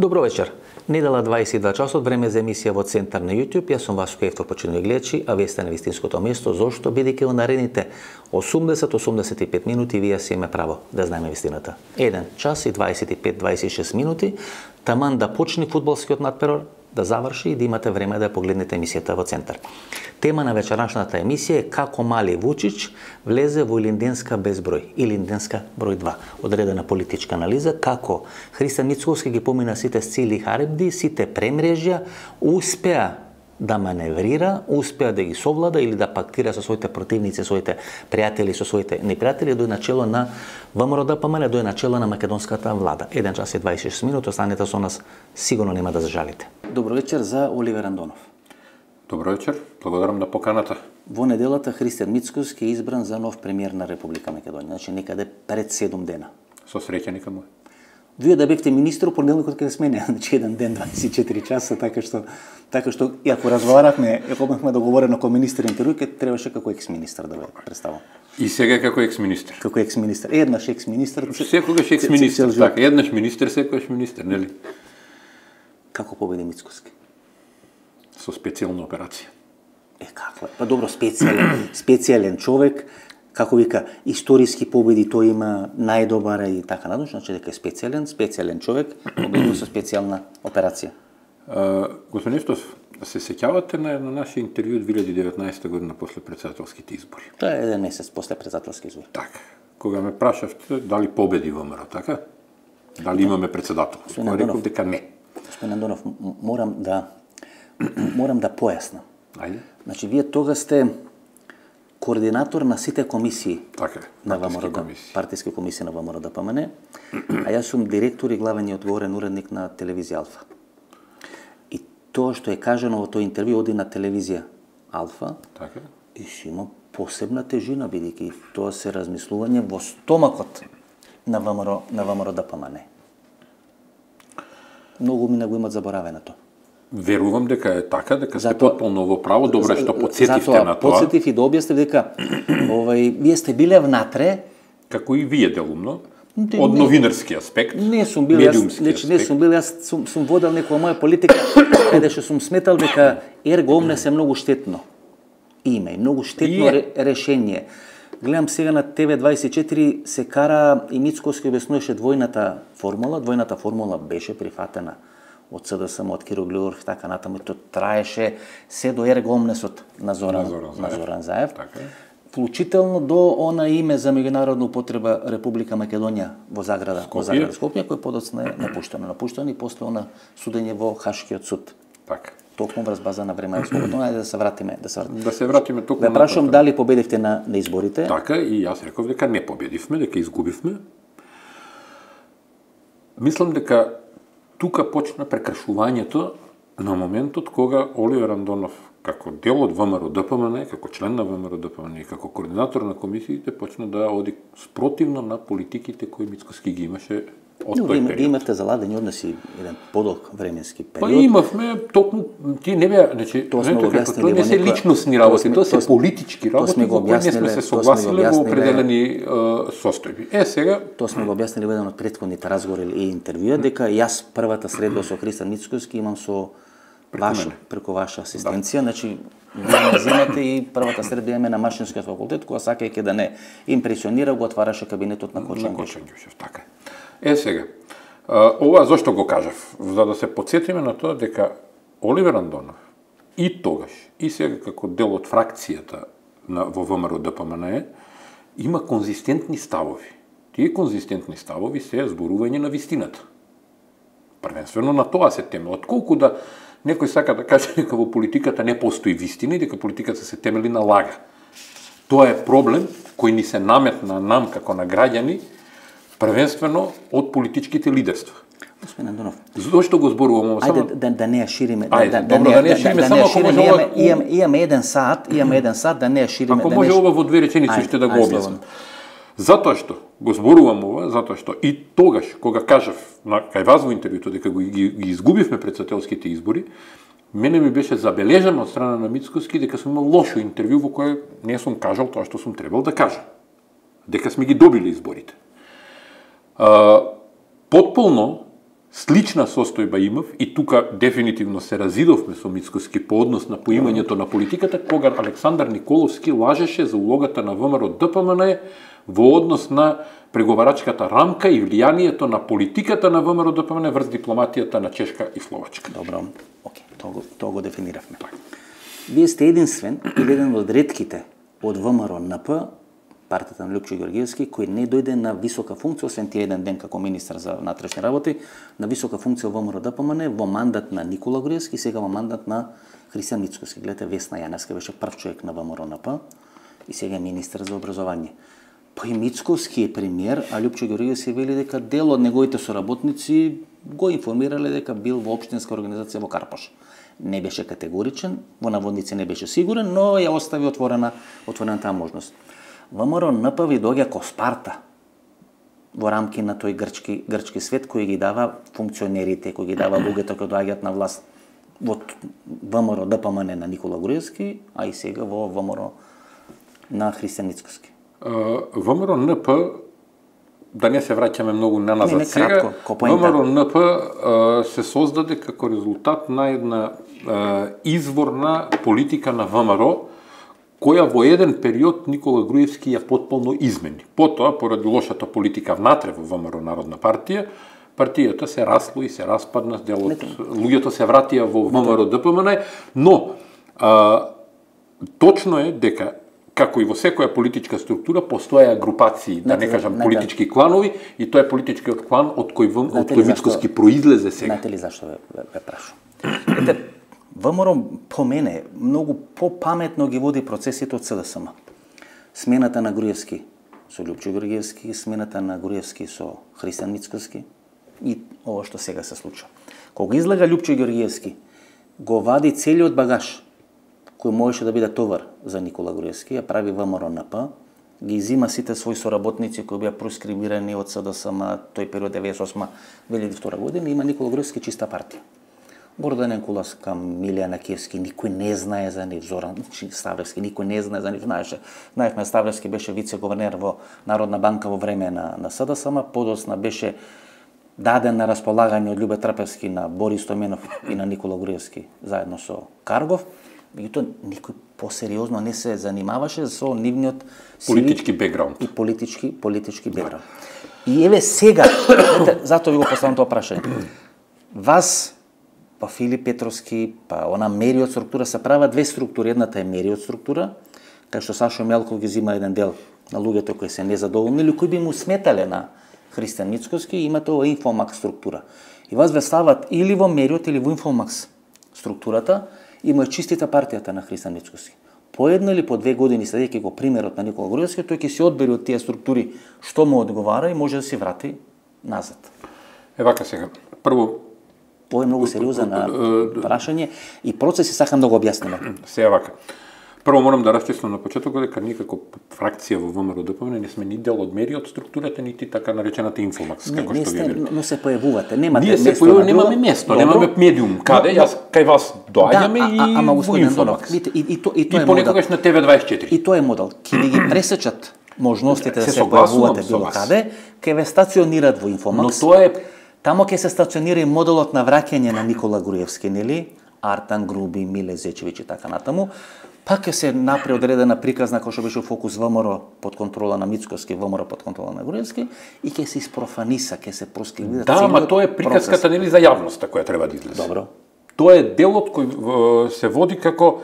Добро вечер. Недела 22 часот, време за емисија во Центар на YouTube. Јас сум Васко Евтов, почитувани гледачи, а вие сте на вистинското место. Зошто? Бидејќи во наредните 80-85 минути вие си имаме право да знаеме вистината. 1 час и 25-26 минути, таман да почне фудбалскиот надперор, да заврши и да имате време да погледнете емисијата во Центар. Тема на вечерашната емисија е како мали Вучич влезе во Илинденска безброј, Илинденска број 2. Одредена политичка анализа како Христијан Мицковски ги помина сите сцили харибди, сите премрежја, успеа да маневрира, успеа да ги совлада или да пактира со своите противници, своите пријатели, со своите непријатели, дој начело на ВМРО-ДПМН, дој начело на македонската влада. 1 час и 26 минути, останете со нас, сигурно нема да зажалите. Добро вечер за Оливер Андонов. Добро вечер, благодарам на поканата. Во неделата Христијан Мицковски е избран за нов премиер на Република Македонија, значи некаде пред 7 дена. Со среќа нека му. Вие да бевте министр, понеделникот каде смене, значи еден ден, 24 часа, така што и ако разговарахме, ако имахме договорено како министер интервју, ке требаше како екс-министр да ве представам. И сега како екс-министр. Како екс-министр. Еднаш екс-министр. Секогаш екс-министр, така, еднаш министр, секогаш министр, нели? Како победи Мицковски? Со специјална операција. Како? Па добро, специјален човек, како вика, историски победи тој има најдобар и така надош, значи дека е специјален човек, победил со специјална операција. Господин Евтов, се сеќавате на наше интервју 2019 година после председателските избори? Тоа е еден месец после председателски избори. Така. Кога ме прашавте дали победи ВМРО, така? Дали имаме председател? Тоа реков дека не. Господин Андонов, морам да појаснам. Ајде. Значи, вие тога сте координатор на сите комисии така, на ВМРО, партиски комисии на ВМРО-ДПМН, а јас сум директор и главен и одговорен уредник на телевизија Алфа. И тоа што е кажано во тој интервју оди на телевизија Алфа, така, и си има посебна тежина, бидејќи тоа се размислување во стомакот на ВМРО-ДПМН. Многу мина го имат заборавено тоа. Верувам дека е така, дека сте потполно во право, добро што подсетивте на тоа. Подсетив и да објаснив дека вие сте биле внатре, како и вие делумно, од новинарски аспект. Не сум бил, јас сум водел некоја моја политика каде што сум сметал дека ерго омнес е многу штетно име и многу штетно решение. Гледам сега на ТВ24 се кара и Мицковски објаснуваше двојната формула. Двојната формула беше прифатена од СДСМ, од Киро Глигоров, така натаму, тоа траеше се до ерго омнесот на Зоран Заев. Така. Вклучително до она име за меѓународна употреба Република Македонија во Заграда, Скопје, кој подоцна е напуштено и после она судење во Хашкиот суд. Така. Токму врз база на време слободно, ајде да се вратиме. Да се вратиме токму. Да прашам дали победивте на изборите? Така, и јас реков дека не победивме, дека изгубивме. Мислам дека тука почна прекршувањето на моментот кога Оливер Андонов, како дел од ВМРО-ДПМН, како член на ВМРО-ДПМН и како координатор на комисиите, почна да оди спротивно на политиките кои Мицковски ги имаше од тој период. Имате заладени односи еден подолг временски период. Па имавме, токму, ти не беа, значи, тоа не се личностни работи, тоа се политички работи во кои не сме се согласиле во определени состојби. Сега тоа сме го објаснили во еден од претходните разговори и интервјуа, дека јас првата средба со Христијан Мицковски имам со преку ваша асистенција, значи вие ме земете и првата средба имаме на Машинскиот факултет, кога сакајќи да не импресионира, го отвараше кабинетот на Кочан Ѓушев. Така е. Сега, ова зошто го кажав? За да се подсетиме на тоа дека Оливер Андонов и тогаш, и сега како дел од фракцијата во ВМРО-ДПМН има конзистентни ставови. Тие конзистентни ставови се зборување на вистината. Првенствено на тоа се темели. Отколку да некој сака да каже дека во политиката не постои вистина и дека политиката се темели на лага. Тоа е проблем кој ни се наметна нам како на граѓани, првенствено од политичките лидерства. Господин Андонов, зошто го зборувам само? Ајде да не ја шириме. Да не ја шириме, само ако може ова... Имаме еден сат, да не ја шириме. Ако може ова во 2 реченици ще да го објаснам. Затоа што го зборувам ова, затоа што и тогаш, кога кажав кај вас во интервјуто дека ги изгубивме председателските избори, мене ми беше забележано од страна на Мицковски дека сум имал лошо интервју во кое не сум кажал тоа што сум требал да кажам. Дека сме ги добили изборите. Потполно Слична состојба имав и тука дефинитивно се разидовме со Мицкоски по однос на поимањето на политиката, кога Александар Николовски лажеше за улогата на ВМРО ДПМН во однос на преговарачката рамка и влијанието на политиката на ВМРО ДПМН врз дипломатијата на Чешка и Словачка. Добро, окей, тоа го дефиниравме. Вие сте единствен или еден од ретките од ВМРО НП, партијата на Лјупчо Ѓорѓиевски, кој не дојде на висока функција, освен тие еден ден како министар за внатрешни работи, на висока функција во ВМРО ДПМН во мандат на Никола Груевски, сега во мандат на Христијан Мицкоски. Гледате, Весна Јаневска беше прв човек на ВМРО НП и сега е министар за образование. Па и Мицкоски е премиер, а Лјупчо Ѓорѓиевски вели дека дел од неговите соработници го информирале дека бил во општинска организација во Карпош. Не беше категоричен, во наводници не беше сигурен, но ја остави отворена таа можност. ВМРО НП ви доаѓа ко Спарта во рамки на тој грчки свет кој ги дава функционерите, кој ги дава луѓето кои доаѓаат на власт во ВМРО ДПМН на Никола Груевски, а и сега во ВМРО на Христијан Мицкоски. ВМРО НП, да не се враќаме многу наназад сега, кратко, ВМРО НП се создаде како резултат на една изворна политика на ВМРО, која во еден период Никола Груевски ја потполно измени. Потоа, поради лошата политика внатре во ВМРО Народна партија, партијата се расло и се распадна, делот луѓето се вратија во ВМРО ДПМН, но точно е дека како и во секоја политичка структура постоја групации, да не кажам политички кланови, и тоа е политичкиот клан од кој Мицкоски произлезе сега. Знаете ли зашто ве прашувам? Ете, ВМРО по мене многу попаметно ги води процесите од СДСМ. Смената на Груевски со Лјупчо Ѓорѓиевски, смената на Груевски со Христијан Мицкоски и ова што сега се случува. Кога излага Лјупчо Ѓорѓиевски, го вади целиот багаж кој можеше да биде товар за Никола Груевски, ја прави ВМРО НП, ги изима сите своји соработници кои беа проскрибирани од СДСМ тој период 98-2002 година, има Никола Груевски чиста партија. Гордан Куласка, Милијана Киевски, никој не знае за нив, Зоран Ставлевски, никој не знае за нив, знаевме Ставлевски беше вице-гувернер во Народна банка во време на СДСМ, подосна беше даден на располагање од Љубе Трпевски на Борис Томенов и на Никола Груевски заедно со Каргов. Меѓутоа никој посериозно не се занимаваше со нивниот политички бекграунд и политички бекграунд. И еве сега, затоа ви го поставам тоа прашање. Вас па Филип Петровски, па она Мериот структура се прават две структури. Едната е Мериот структура, кај што Сашо Мелков ги зима еден дел на луѓето кои се незадоволни или кои би му сметале на Христијан Мицкоски, имате ова Инфомакс структура. И вас ве стават или во Мериот или во Инфомакс структурата, има чистите партијата на Христијан Мицкоски. По една или по 2 години следејќи го примерот на Никола Груевски, тој ќе се одбери од тие структури што му одговара и може да се врати назад. Вака сега. Прво, ова е многу сериозно прашање и процеси сакам да го објасниме. Сега вака. Прво морам да расчистам на почетокот дека никако фракција во ВМРО ДПМН не сме ни дел од Мериот структурата, нити така наречената Инфомакс, како што ви велам. Но се појавувате, немате место. Ние се појавуваме, немаме место, немаме медиум. Каде? Јас кај вас доаѓаме и во Инфомакс. И тоа е модел. Понекогаш на ТВ24. И тоа е модел. Ке ви ги пресечат можностите да се појавувате било каде, ке ве стационират во Инфомакс. Но тоа е тамо ќе се стационира и моделот на враќање на Никола Груевски, нели? Артан Груби, Миле Зечевиќ и така натаму. Пак ќе се напре одредена приказна кој што беше фокус ВМРО под контрола на Мицкоски, ВМРО под контрола на Груевски и ќе се испрофаниса, ќе се проскривира целиот процес. Да, ама тоа е приказката нели за јавноста која треба да излезе. Добро. Тоа е делот кој се води како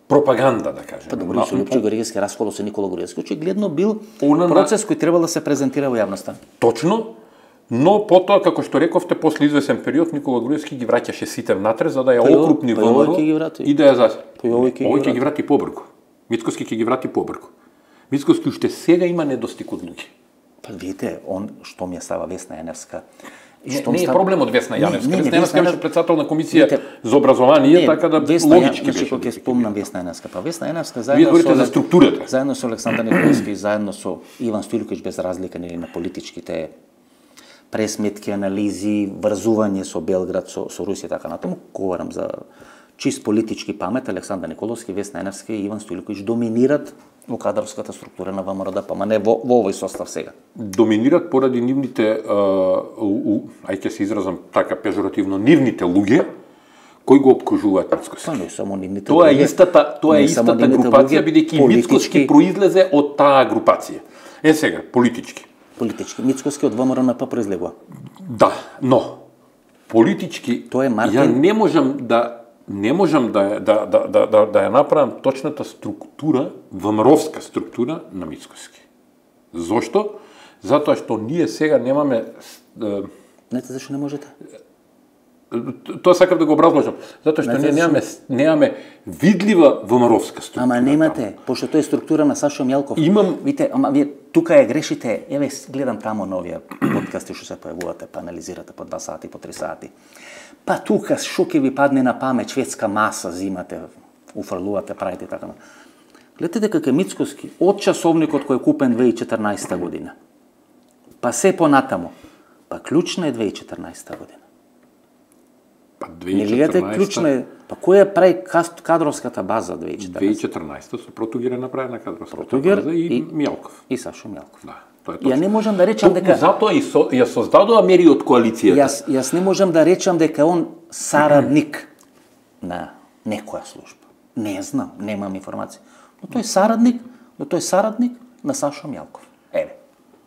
пропаганда, да кажем. Па добро, со Лјупчо Ѓорѓиевски расколот со Никола Груевски, очигледно бил процес кој требал да се презентира во јавноста. Точно. Но потоа, како што рековте, после извесен период Никола Груевски ги враќаше сите внатре за да ја окрупни ВМРО и да ја заси. Овој ќе ги врати побрзо. Мицкоски ќе ги врати побрзо. Мицкоски уште сега има недостиг од луѓе. Па видите, он што ми ја става Весна Јаневска. Не е проблем од Весна Јаневска. Весна Јаневска беше председател на комисија за образование, така да логички беше. Кога ќе спомнам Весна Јаневска, па Весна Јаневска заедно со Александар Николовски, заедно со Иван Стојлковиќ, без разлика нели на политичките пресметки, анализи, врзување со Белград, со Русија, така натаму, говорам за чист политички памет, Александар Николовски, Весна Јаневска и Иван Стојлковиќ доминират во кадровската структура на ВМРО ДПМН во овој состав сега? Доминират поради нивните, ајде се изразам така пежоративно, нивните луѓе кои го опкружуваат Мицкоски. Па не само нивните Тоа е луѓе. истата групација, бидејќи Мицкоски произлезе од таа групација. Сега, политички. Политички. Мицкоски од ВМРО НП произлегува. Да, но политички Тоа е Мартин. ја не можам да ја направам точната структура, ВМРО-вска структура на Мицкоски. Зошто? Затоа што ние сега немаме Знаете зашто не можете? Тоа сакам да го образложам. Затоа што ние немаме видлива ВМРО-вска структура. Ама немате, пошто тоа е структура на Сашо Мјалков. Вите, ама вие тука ја грешите. Еве гледам тамо новија подкасти што се појавувате, па анализирате по 2 сати, по 3 сати. Па тука што ќе ви падне на памет, шведска маса зимате, уфрлувате, правите така. Гледате дека е Мицкоски од часовникот кој е купен 2014 година. Па се понатамо. Па клучна е 2014 година. Па Не гледате клучна е. Па која прави кадровската база 2014? 2014 со Протугер е направена кадровската Протугер база и Мјалков. И Сашо Мјалков. Да, тоа е точно. Ја не можам да речам дека Затоа ја создадува мери од коалицијата. Јас не можам да речам дека он сарадник на некоја служба. Не знам, немам информација. Но тој е сарадник на Сашо Мјалков. Еве,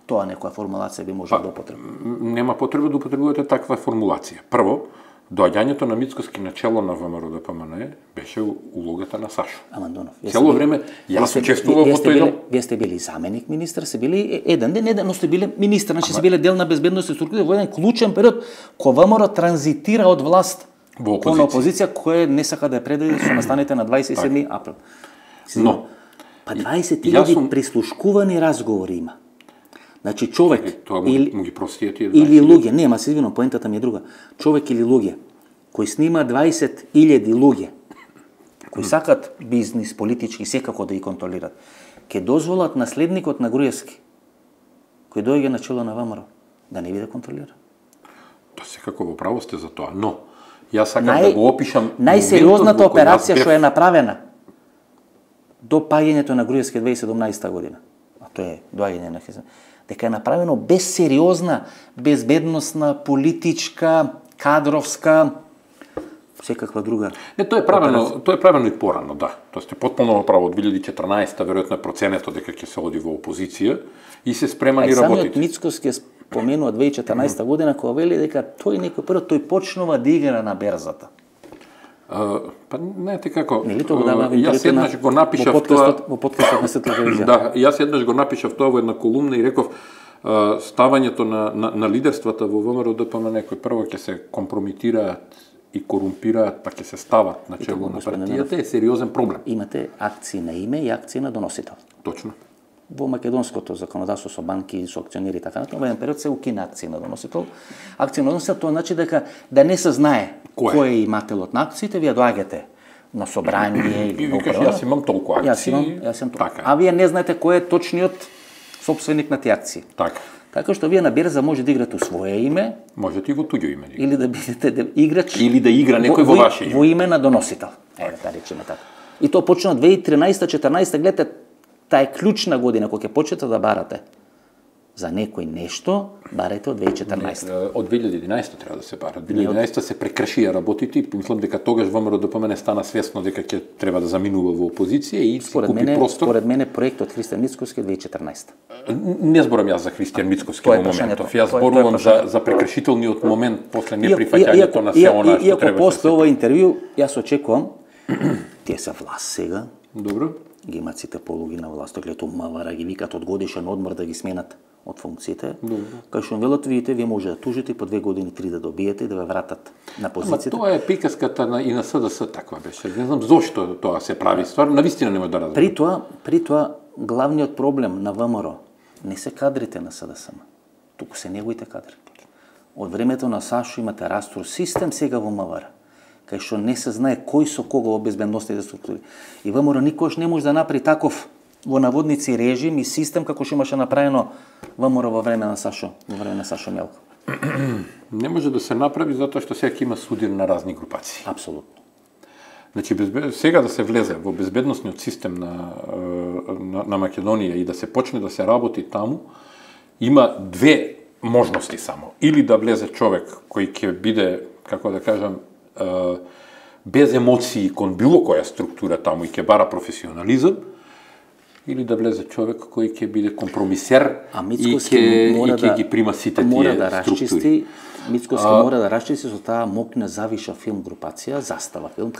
тоа некоја формулација би можел да употреби. Нема потреба да употребувате таква формулација. Прво, доаѓањето на Мицкоски на чело на ВМРО ДПМН беше улогата на Сашо. Амандонов. Цело време јас учествував во тој дел. Вие сте били заменик министар, сте били еден ден, но сте били министар, значи сте били дел на безбедност и структура во еден клучен период кога ВМРО транзитира од власт кон опозиција која не сака да ја предаде со настаните на 27 април. Но па 20.000 прислушкувани разговори има. Значи човек или луѓе, нема се извинувам, поентата ми е друга. Човек или луѓе кои снима 20.000 луѓе кои сакат бизнис, политички секако да ги контролират, ќе дозволат наследникот на Груевски кој доаѓа на чело на ВМРО да не биде контролиран. Тоа секако во право сте за тоа, но јас сакам да го опишам најсериозната операција што е направена до паѓањето на Груевски 2017 година. А тоа е доаѓање на Хезен. Дека е направено без сериозна безбедносна, политичка, кадровска, секаква друга. Не, тоа е правено и порано, да. Тоа сте потполно право од 2014-та, веројатно е проценето дека ќе се оди во опозиција и се спремани работите. Самиот Мицкоски споменува 2014 година кога вели дека тој некој прво тој почнува да игра на берзата. Па знаете како, јас еднаш го напишав тоа во подкастот на Светла телевизија. Да, јас еднаш го напишав тоа во една колумна и реков ставањето на лидерствата во ВМРО ДПМН кои прво ќе се компромитираат и корумпираат, па ќе се стават на чело на партијата е сериозен проблем. Имате акции на име и акции на доносител. Точно. Во македонското законодавство со банки, со акционери и така натаму, во еден период се укина акции на доносител. Акции на доносител тоа значи дека да не се знае кој е имателот на акциите, вие доаѓате на собрание или во управа. Јас имам толку акции. Јас имам толку. А вие не знаете кој е точниот сопственик на тие акции. Така. Така што вие на берза може да играте у свое име, можете и во туѓо име. Или да бидете играч или да игра некој во ваше име. Во име на доносител. Еве да речеме така. И тоа почна 2013-14, гледате, таа е клучна година кога ќе почнете да барате за некој нешто, барете од 2014. Од 2011 треба да се бара. 2011 се прекршија работите и мислам дека тогаш ВМРО ДПМН стана свесно дека ќе треба да заминува во опозиција и си купи простор. Според мене проектот Христијан Мицкоски 2014. Не зборам јас за Христијан Мицкоски во моментов. Јас зборувам за прекршителниот момент после неприфаќањето на се она што треба. Иако после ова интервју јас очекувам тие се власт сега. Добро. Ги имат сите полуги на власт, гледато мавара ги викат од годишен одмор да ги сменат од функциите. Кај што велат, видите, вие може да тужите по 2 години 3 да добиете и да ве вратат на позицијата. Ама тоа е приказката и на СДС таква беше. Не знам зошто тоа се прави. Стварно навистина нема да разберам. При тоа главниот проблем на ВМРО не се кадрите на СДС, туку се неговите кадри. Од времето на Сашо имате растур систем сега во МВР, кај што не се знае кој со кого во безбедностните структури. И ВМРО никош не може да направи таков во наводници режим и систем како што имаше направено ВМРО во време на Сашо Мјалков. Не може да се направи затоа што сега има судир на разни групации. Апсолутно. Значи сега да се влезе во безбедносниот систем на Македонија и да се почне да се работи таму, има две можности само. Или да влезе човек кој ќе биде, како да кажам, без емоции кон било која структура таму и ќе бара професионализам, или да влезе човек кој ќе биде компромисер и ќе ги прима сите тие структури. Мицкоски мора да расчисти со таа МОК Завиша филм групација, Застава филм.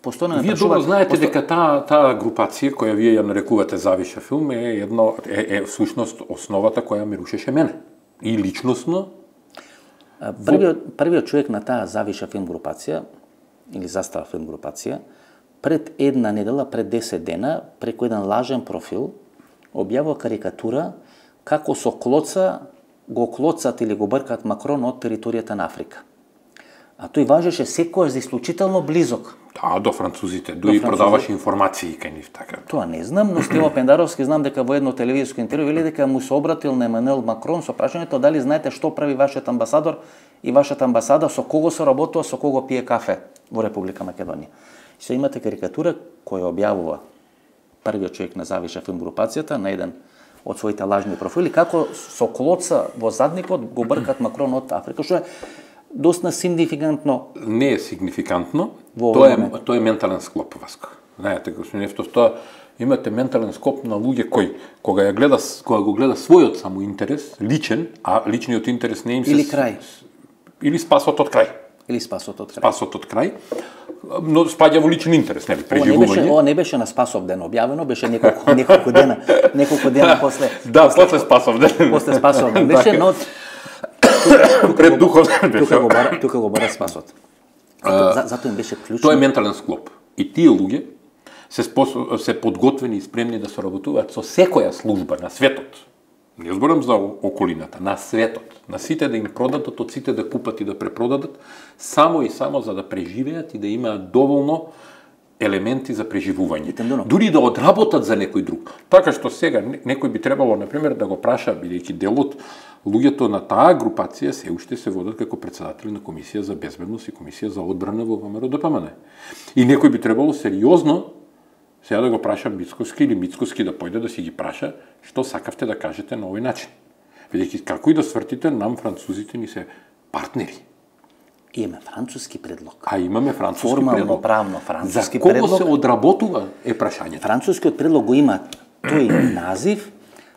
Постојано вие добро знаете дека таа групација која вие ја нарекувате Завиша филм е всушност основата која ме рушеше мене. И личносно. Првиот човек на таа Завиша филм групација или Застава филм групација пред една недела, пред 10 дена, преку еден лажен профил објавува карикатура како со клоца го клоцат или го бркат Макрон од територијата на Африка. А тој важеше секојаш за исклучително близок. Да, до французите, и продаваше информации кај нив така. Тоа не знам, но Стево Пендаровски знам дека во едно телевизиско интервју вели дека му се обратил на Емануел Макрон со прашањето дали знаете што прави вашиот амбасадор и вашата амбасада, со кого се работува, со кого пие кафе во Република Македонија. Се имате карикатура која објавува првиот човек на Завиша филм групацијата на еден од своите лажни профили, како со клоца во задникот го бркат Макрон од Африка, што е доста сигнификантно. Не е сигнификантно, тоа е ментален склоп, Васко. Знаете, господин Ефтов, тоа имате ментален склоп на луѓе кои, кога го гледа својот само интерес, личен, а личниот интерес не им се... Или крај. Или спасот од крај. Или спасот од крај. Спасот од крај, но спаѓа во личен интерес, нели, преживување. Ова не беше на Спасов ден објавено, беше неколку дена после. Да, после Спасов ден. После Спасов ден беше, но пред духовен беше. Тука го бара Спасот. Затоа им беше клучно. Тоа е ментален склоп. И тие луѓе се подготвени и спремни да соработуваат со секоја служба на светот. Не зборам за околината, на светот, на сите да им продадат, од сите да купат и да препродадат, само и само за да преживеат и да имаат доволно елементи за преживување. Дури да одработат за некој друг. Така што сега некој би требало, например, да го праша, бидејќи дел од луѓето на таа групација се уште се водат како председатели на Комисија за безбедност и Комисија за одбрана во ВМРО ДПМН. И некој би требало сериозно сега да го праша Мицкоски или Мицкоски да појде да си ги праша што сакавте да кажете на овој начин. Бидејќи како и да свртите, нам французите ни се партнери. Имаме француски предлог. А имаме француски формално, предлог. правно француски предлог. За кого предлог. се одработува е прашањето. Францускиот предлог го има тој назив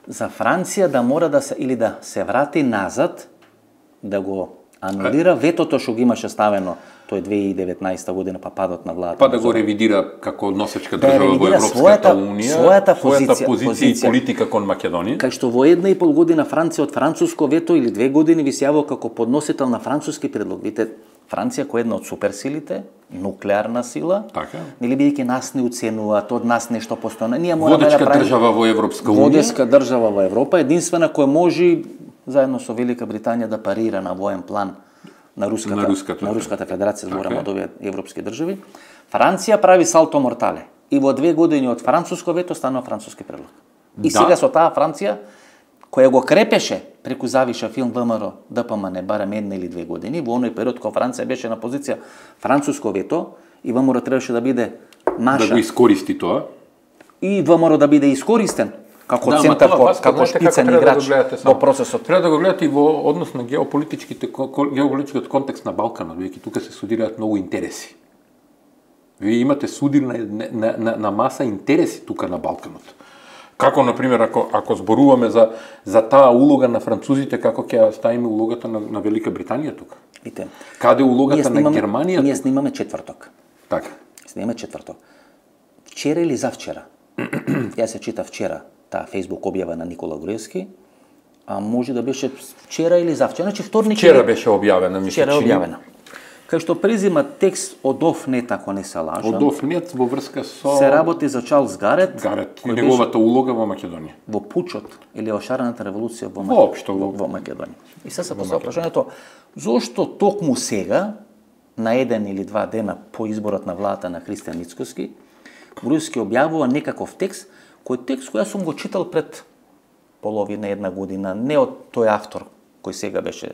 за Франција да мора да се или да се врати назад, да го анулира ветото што го имаше ставено тој 2019 година па падот на владата. Па да го ревидира како носечка држава во Европската унија, својата позиција и политика кон Македонија. Кај што во 1,5 година Франција од француско вето или 2 години ви се јавува како подносител на француски предлог. Видите, Франција која е една од суперсилите, нуклеарна сила, така, нели бидејќи нас не уценуваат, од нас нешто постојано. Ние мораме водечка да правиме држава во Европска унија. Водечка држава во Европа, единствена која може заедно со Велика Британија да парира на воен план на Руската федерација, зборам од овие европски држави. Франција прави салто мортале. И во 2 години од француско вето станува француски предлог. И сега со таа Франција, која го крепеше преку Завиша филм ВМРО ДПМН барем 1 или 2 години, во оној период кога Франција беше на позиција француско вето, и ВМРО требаше да биде маша. Да го искористи тоа. И ВМРО да биде искористен како центар, како шпицен играч во процесот. Треба да го гледате и во однос на геополитичкиот контекст на Балканот, веќе тука се судираат многу интереси. Вие имате судир на маса интереси тука на Балканот. Како, например, ако зборуваме за таа улога на французите, како ќе ставиме улогата на Велика Британија тука? Видите. Каде улогата на Германија? Ние снимаме четврток. Така. Снимаме четврток. Вчера или завчера? Ја се чита вчера таа Facebook објава на Никола Груевски, а може да беше вчера или завчера, значи вторник. Вчера беше објавена, мислам. Вчера објавена. Кај што презима текст од Офнет, ако не се лажам. Од Офнет во врска со се работи за Чарлс Гарет. Гарет и неговата улога во Македонија. Во пучот или ошарената револуција во Македонија. И сега се поставува прашањето зошто токму сега, на 1 или 2 дена по изборот на владата на Христијан Мицкоски, Груевски објавува некаков текст, кој текст кој сум го читал пред половина една година, не од тој автор кој сега беше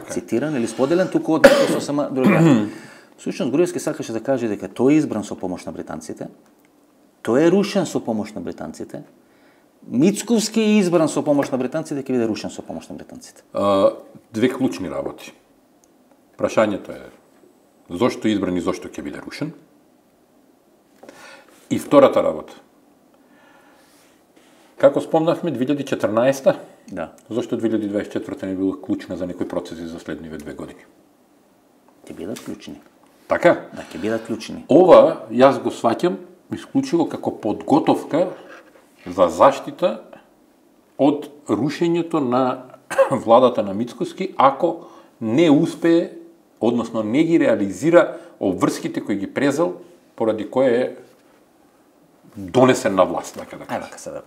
цитиран или споделен, туку од некој сосема други. Всушност Груевски сакаше да каже дека тој е избран со помош на британците, Тој е рушен со помош на британците. Мицковски е избран со помош на британците, ќе биде рушен со помош на британците. Две клучни работи. Прашањето е зошто е избран и зошто ќе биде рушен. И втората работа. Како спомнавме, 2014 Да. Зошто 2024 не била клучна за некои процеси за следниве 2 години? Ќе бидат клучни. Така? Да, ќе бидат клучни. Ова, јас го сваќам исклучиво како подготовка за заштита од рушењето на владата на Мицкоски, ако не успее, односно не ги реализира обврските кои ги презел, поради кој е донесен на власт, така да Ајде, кажа. така се да.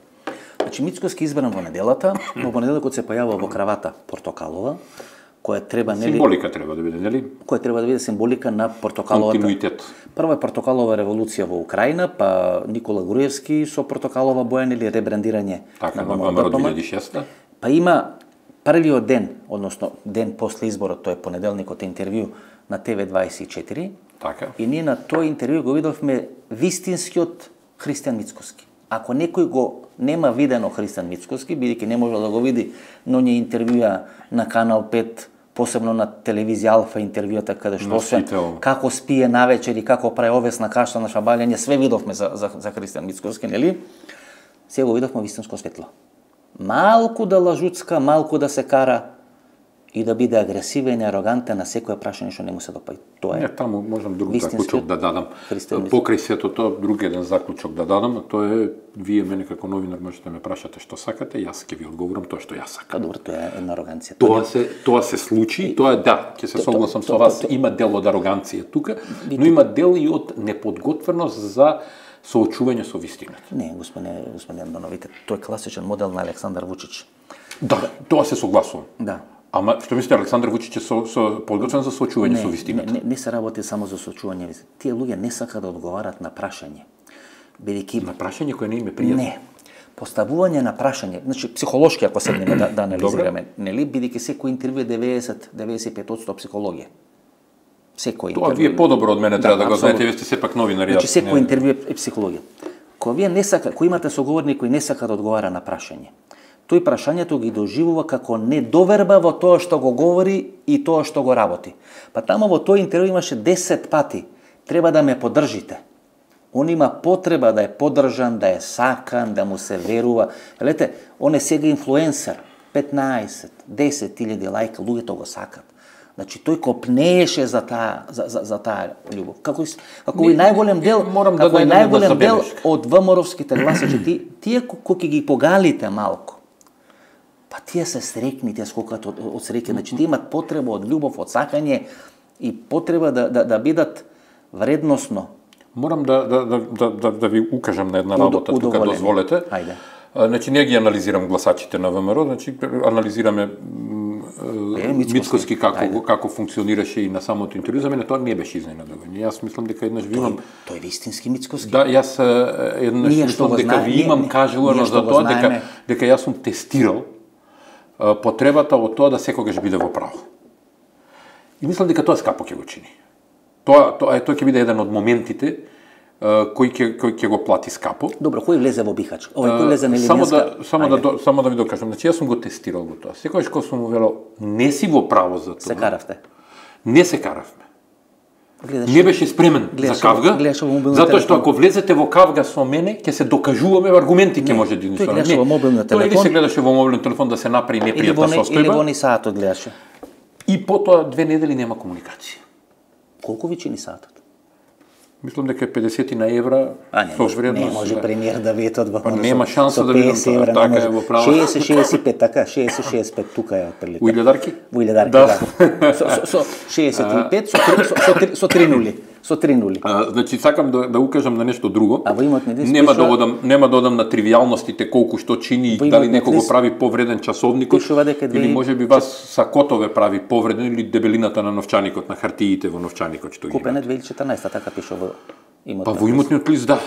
Значи, Мицкоски избран во неделата, во понеделникот се појавува во кравата портокалова, која треба, нели, Символика треба да биде, нели? која треба да биде символика на портокаловата. Континуитет. Прва е портокалова револуција во Украина, па Никола Груевски со портокалова боја, нели, ребрандирање Така, на на ВМРО ВМРО. 2006. Па има првиот ден, односно ден после изборот, тој е понеделникот, интервју на ТВ24, Така. и ние на тој интервју го видовме вистинскиот Христијан Мицкоски. Ако некој го нема видено Христијан Мицкоски, бидејќи не може да го види, но ние интервјуа на Канал 5, посебно на телевизија Алфа интервјуата, каде што освен како спие навечер и како прави овесна каша на шабалјање, све видовме за Христијан Мицкоски, нели? Сега го видовме вистинско светло. Малку да лажуцка, малку да се кара и да биде агресивен и арогантен на секое прашање што не му се допаѓа. Тоа е. Не, таму можам друг вистинскиот заклучок да дадам. Христијан Мицкоски. Покрај сето тоа, друг еден заклучок да дадам, а тоа е, вие мене како новинар можете ме прашате што сакате, јас ќе ви одговорам тоа што јас сакам. Па добро, тоа е една ароганција. Тоа се случи, тоа е да, ќе се согласам со вас, има дел од ароганција тука, но има дел и од неподготвеност за соочување со вистината. Не, господине Андоновите, тој е класичен модел на Александар Вучич. Да, тоа се согласувам. Да. Ама што мислите, Александар Вучич е со подготвен за соочување со вистината? Не се работи само за соочување. Тие луѓе не сакаат да одговарат на прашање. Бидејќи На прашање кое не им е пријатно. не. Поставување на прашање, значи психолошки ако седнеме да анализираме, нели, бидејќи секој интервју е 90-95% психологија. Секој Тоа интервју. вие подобро од мене треба да го апсолутно. знаете, вие сте сепак новинари. Значи јас секој не- интервју е психологија. Кој имате соговорник кој не сака да одговара на прашање, тој прашањето ги доживува како недоверба во тоа што го говори и тоа што го работи. Па таму во тој интервју имаше 10 пати. Треба да ме поддржите. Он има потреба да е поддржан, да е сакан, да му се верува. Гледате, он е сега инфлуенсер. 15, 10.000 лајка, луѓето го сакат. Значи тој копнееше за таа љубов. Како и најголем дел, морам да како и дадам една најголем дел забелешка. од ВМРО-вските гласачи, тие кои ги погалите малку, па тие се срекни, тие скокат од среќа, значи тие имат потреба од љубов, од сакање и потреба да бидат вредносно. Морам да ви укажам на една работа, тука удоволени. дозволете. Ајде. Значи, не ги анализирам гласачите на ВМРО, значи, анализираме Мицкоски како функционираше и на самото интервју. За мене тоа не беше изненадување. Јас мислам дека еднаш ви имам... Тој е вистински Мицкоски. Да, јас еднаш Ние што мислам го дека ви ние имам кажувано што за го тоа, знаеме. дека јас сум тестирал потребата од тоа да секогаш биде во право. И мислам дека тоа скапо ќе го чини. Тоа ќе биде еден од моментите кој ќе го плати скапо. Добро, кој влезе во бихач? Кој влезе на Само да ви докажам, значи јас сум го тестирал го тоа. Секогаш кога сум му велел не си во право за тоа. Се каравте. Не се каравме. Гледаш, Не беше спремен за кавга, затоа што ако влезете во кавга со мене, ќе се докажуваме аргументи, ќе може да тој гледаше во мобилниот телефон. Тоа или се гледаше во мобилниот телефон да се направи непријатна или состојба. во ни саатот гледаше. И потоа 2 недели нема комуникација. Колку ви чини саатот? Мислам дека е 50 на евра со вредност. Не може премиер да видите од ВМРО. Нема шанса да видам тоа, така е во право. 60-65, така, 60-65 тука е отприлика. Во илјадарки? Во илјадарки, да. Со 65, со 3 нули. Со 3 нули. Значи, сакам да укажам на нешто друго. А во имот недес нема да одам на тривијалностите колку што чини и дали некој го прави повреден часовникот, или можеби вас сакотове прави повреден, или дебелината на новчаникот, на хартиите во новчаникот што ги купен е 2014, така пише во имотниот. Па во имотниот лист, да.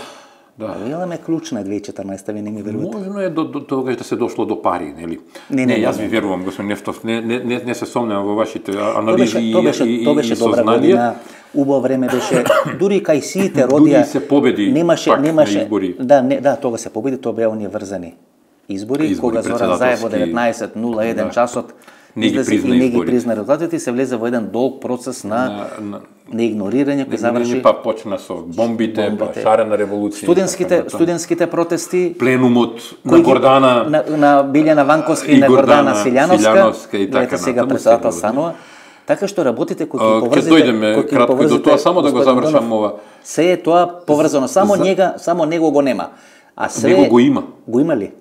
Да. Имаме клучна 2014, ви не ми верувате. Можно е до тогаш да се дошло до пари, нели? Не, јас ви верувам, господин Нефтов, не се сомневам во вашите анализи и беше добра година, убаво време беше, дури кај сите родија. Дури се победи немаше на избори. Да, тога се победи, тоа беа оние врзани избори кога Зоран Заев во 19:01 часот излезе и не ги призна резултатите, се влезе во еден долг процес на неигнорирање кој заврши. Па почна со бомбите, па шарена револуција. Студентските протести, пленумот на Гордана, на Билјана Ванковска и на Гордана Силјановска и така сега председател станува. Така што работите кои ги поврзите, ќе дојдеме кратко до тоа, само да го завршам ова. Се е тоа поврзано, само него го нема. А све него го има. Го има ли?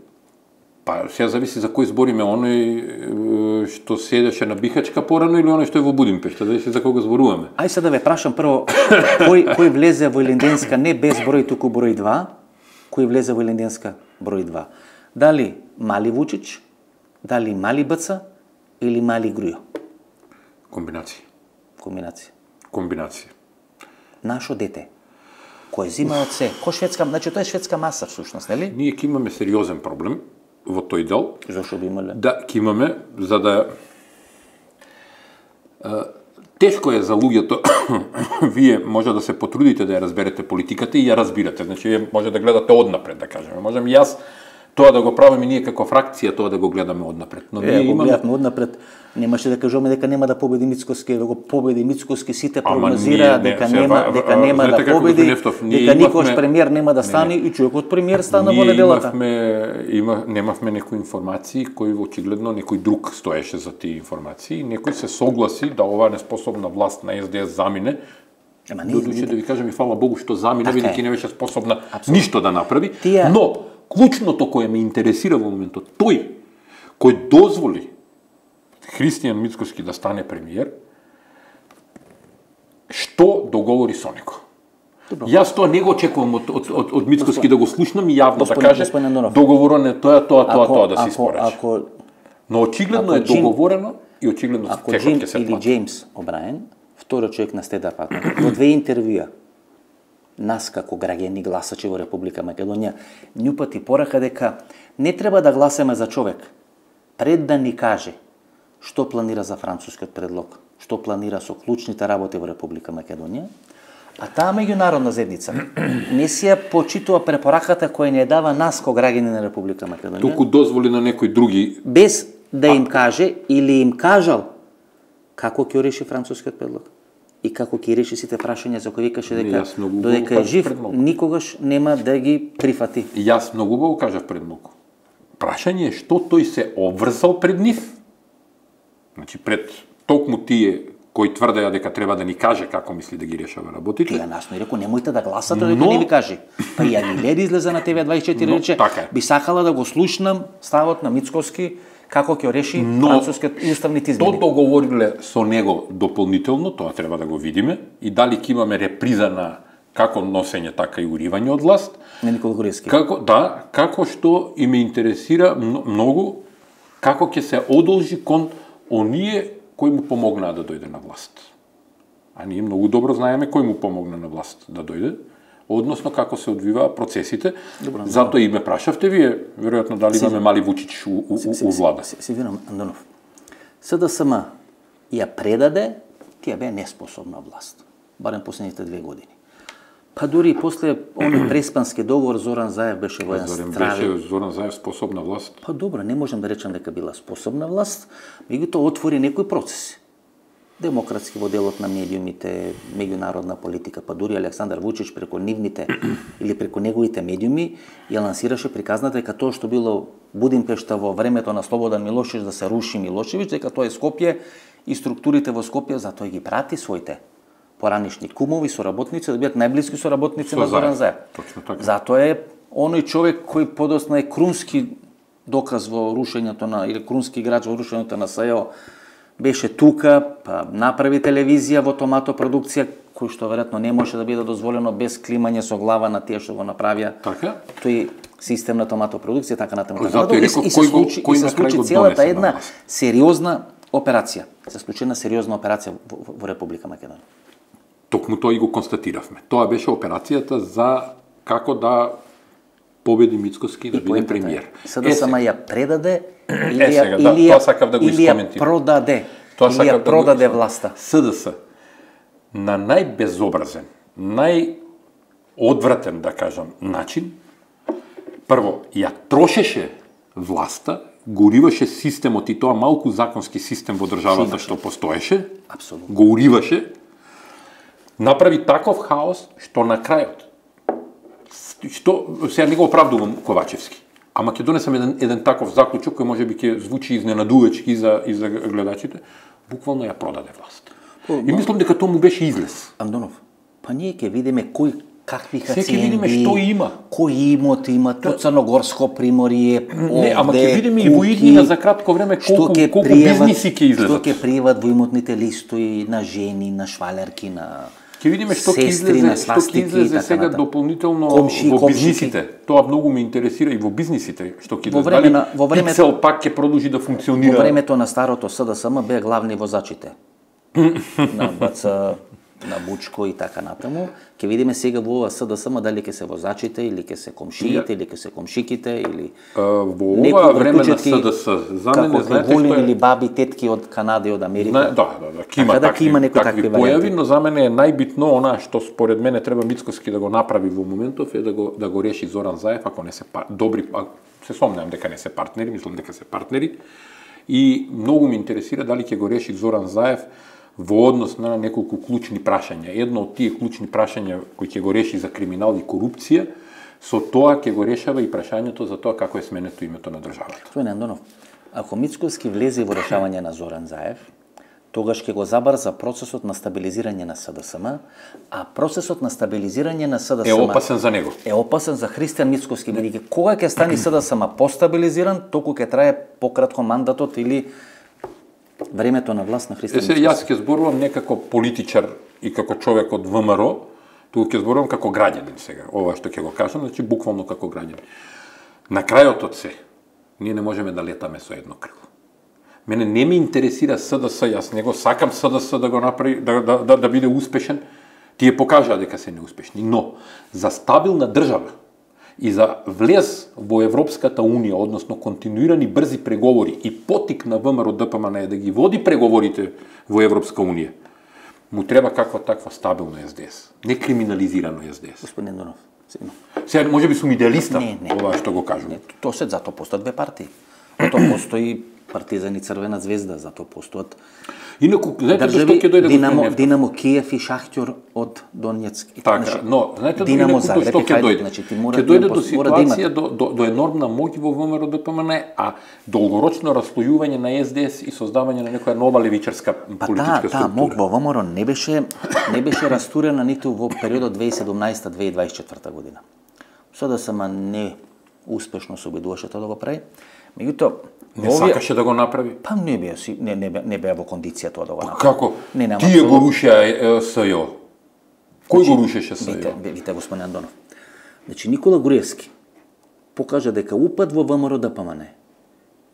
Па сега зависи за кој збориме, оној што седеше на Бихачка порано или оној што е во Будимпешта, зависи за кого зборуваме. Ај сега да ве прашам прво, кој влезе во Илинденска не без број, туку број 2, кој влезе во Илинденска број 2? Дали Мали Вучич, дали Мали Бца или Мали Грујо? Комбинација. Нашо дете, кој зима од се, кој шведска, значи тоа е шведска маса всушност, нели? Ние ќе имаме сериозен проблем во тој дел. Зошто би имале? Да, ќе имаме, за да тешко е за луѓето, вие може да се потрудите да ја разберете политиката и ја разбирате, значи вие може да гледате однапред, да кажеме. Можем и јас тоа да го правиме ние како фракција, тоа да го гледаме однапред. Но ние имаме гледаме однапред, немаше да кажеме дека нема да победи Мицкоски, да го победи Мицкоски, сите прогнозира дека нема да победи, дека никош премиер нема да стане и човекот премиер стана во неделата. Немавме некои информации кои очигледно некој друг стоеше за тие информации, некој се согласи да оваа неспособна власт на СДС замине. Додуше да ви кажам и фала Богу што замине, бидејќи не беше способна ништо да направи, но клучното кое ме интересира во моментот, тој кој дозволи Христијан Мицкоски да стане премиер, што договори со него. Јас тоа не го очекувам од Мицкоски да го слушнам и јавно да каже договорено е тоа да се испорачи. Но очигледно е договорено и очигледно ако Джим или Джеймс О'Браен, втори човек на стендапот, во 2 интервјуа нас како граѓани гласачи во Република Македонија ни упати порака дека не треба да гласаме за човек пред да ни каже што планира за францускиот предлог, што планира со клучните работи во Република Македонија, а таа меѓународна заедница не си ја почитува препораката која не дава нас како граѓани на Република Македонија. Туку дозволи на некои други без да им каже или им кажал како ќе реши францускиот предлог и како ќе реши сите прашања за кои викаше дека додека е жив никогаш нема да ги прифати. Јас многу го кажав пред многу. Прашање е што тој се обврзал пред нив. Значи пред токму тие кои тврдеа дека треба да ни каже како мисли да ги решава работите. Тие насно и рекол немојте да гласате дека не ви каже. Па и Агилери излезе на ТВ24 рече би сакала да го слушнам ставот на Мицкоски како ќе реши францускиот уставните измени. Тоа договориле со него дополнително, тоа треба да го видиме, и дали ќе имаме реприза на како носење, така и уривање од власт. На Никола Груевски. Како што и ме интересира многу, како ќе се одолжи кон оние кои му помогнаа да дојде на власт. А ние многу добро знаеме кој му помогна на власт да дојде, односно како се одвиваа процесите. Затоа и ме прашавте вие, веројатно дали имаме Мали Вучич у влада. Сигурно, Андонов. СДСМ ја предаде, тие беа неспособна власт. Барем последните 2 години. Па дури после оној преспански договор Зоран Заев беше во еден страви. Беше Зоран Заев способна власт? Па добро, не можам да речам дека била способна власт, меѓутоа отвори некои процеси. Демократски во делот на медиумите, меѓународна политика, па дури Александар Вучич преку нивните или преку неговите медиуми ја лансираше приказната дека тоа што било Будимпешта во времето на Слободан Милошевиќ да се руши Милошевиќ, дека тоа е Скопје и структурите во Скопје, затоа ги прати своите поранишни кумови, соработници, да бидат најблиски соработници на Зоран Заев. Затоа е оној човек кој подосна е крунски доказ во рушењето на, или крунски играч во рушењето на САЕО, беше тука, па направи телевизија во Томато продукција, кој што веројатно не може да биде дозволено без климање со глава на тие што го направија. Така? Тој систем на Томато продукција, така натаму. И се случи целата една сериозна операција. Се случи една сериозна операција во Република Македонија. Токму тоа и го констатиравме. Тоа беше операцијата за како да победи Мицкоски да биде премиер. СДСМ ја предаде или ја продаде. Или ја продаде власта. СДС на најбезобразен, најодвратен, да кажам, начин, прво, ја трошеше власта, го уриваше системот и тоа малку законски систем во државата што постоеше, Апсолутно. го уриваше, направи таков хаос што на крајот, сега не го оправдувам Ковачевски, ама ќе донесам еден таков заклучок кој може би ќе звучи изненадувачки и за гледачите, буквално ја продаде власт. И мислам дека тоа му беше излез. Андонов, па ние ќе видиме кој какви хациенди, ќе видиме што има. Кој имот има, то Црногорско приморје, не, ама ќе видиме и во иднина за кратко време колку бизниси ќе излезат. Што ќе пријават во имотните листови на жени, на швалерки, на ќе видиме што ќе излезе сега дополнително во бизнисите. Тоа многу ме интересира и во бизнисите што ќе излезе. Во времето Пицел пак ќе продолжи да функционира. Во времето на старото СДСМ беа главни возачите. На БЦ, на Бучко и така натаму. Ќе видиме сега во ова СДСМ дали ќе се возачите или ќе се комшиите или ќе се комшиките или во ова време на СДС за мене знаете што или баби, тетки од Канада и од Америка. Да, такви појави, но за мене е најбитно она што според мене треба Мицкоски да го направи во моментов е да го реши Зоран Заев, ако не се добри, се сомневам дека не се партнери, мислам дека се партнери. И многу ме интересира дали ќе го реши Зоран Заев во однос на неколку клучни прашања. Едно од тие клучни прашања кои ќе го реши за криминал и корупција, со тоа ќе го решава и прашањето за тоа како е сменето името на државата. Господин Андонов, ако Мицкоски влезе во решавање на Зоран Заев, тогаш ќе го забрза процесот на стабилизирање на СДСМ, а процесот на стабилизирање на СДСМ е опасен за него. Е опасен за Христијан Мицкоски, бидејќи кога ќе стане СДСМ постабилизиран, толку ќе трае пократко мандатот или времето на власт на Христијан Мицкоски. Јас ќе зборувам не како политичар и како човек од ВМРО, туку ќе зборувам како граѓанин сега. Ова што ќе го кажам, значи буквално како граѓанин. На крајот од се, ние не можеме да летаме со едно крило. Мене не ме интересира СДС, јас не го сакам СДС да го направи, да биде успешен, тие покажаа дека се неуспешни, но за стабилна држава и за влез во Европската Унија, односно континуирани брзи преговори и потик на ВМРО ДПМН е да ги води преговорите во Европска Унија, му треба каква таква стабилна СДС, не криминализирано СДС. Господин Донов, сега може би сум идеалиста, ова што го кажувам. Тоа се затоа постојат две партии. Тоа постои Партизан и Црвена звезда, затоа постојат. Инаку, знаете што ќе дојде Динамо Киев и Шахтер од Донецк. Така, но знаете Динамо Загреб што ќе дојде? Ќе дојде до ситуација до енормна моќ во ВМРО ДПМН, а долгорочно расслојување на СДС и создавање на некоја нова левичарска политичка структура. Таа моќ во ВМРО не беше растурена ниту во периодот 2017-2024 година. СДСМ не успешно се обидуваше тоа да го прави. Меѓутоа, не сакаше да го направи? Па не беа во кондиција тоа да го направи. Како? Тие го рушеа СЈО. Кој го рушеше СЈО? Вите, господин Андонов. Значи, Никола Груевски покажа дека упад во ВМРО ДПМН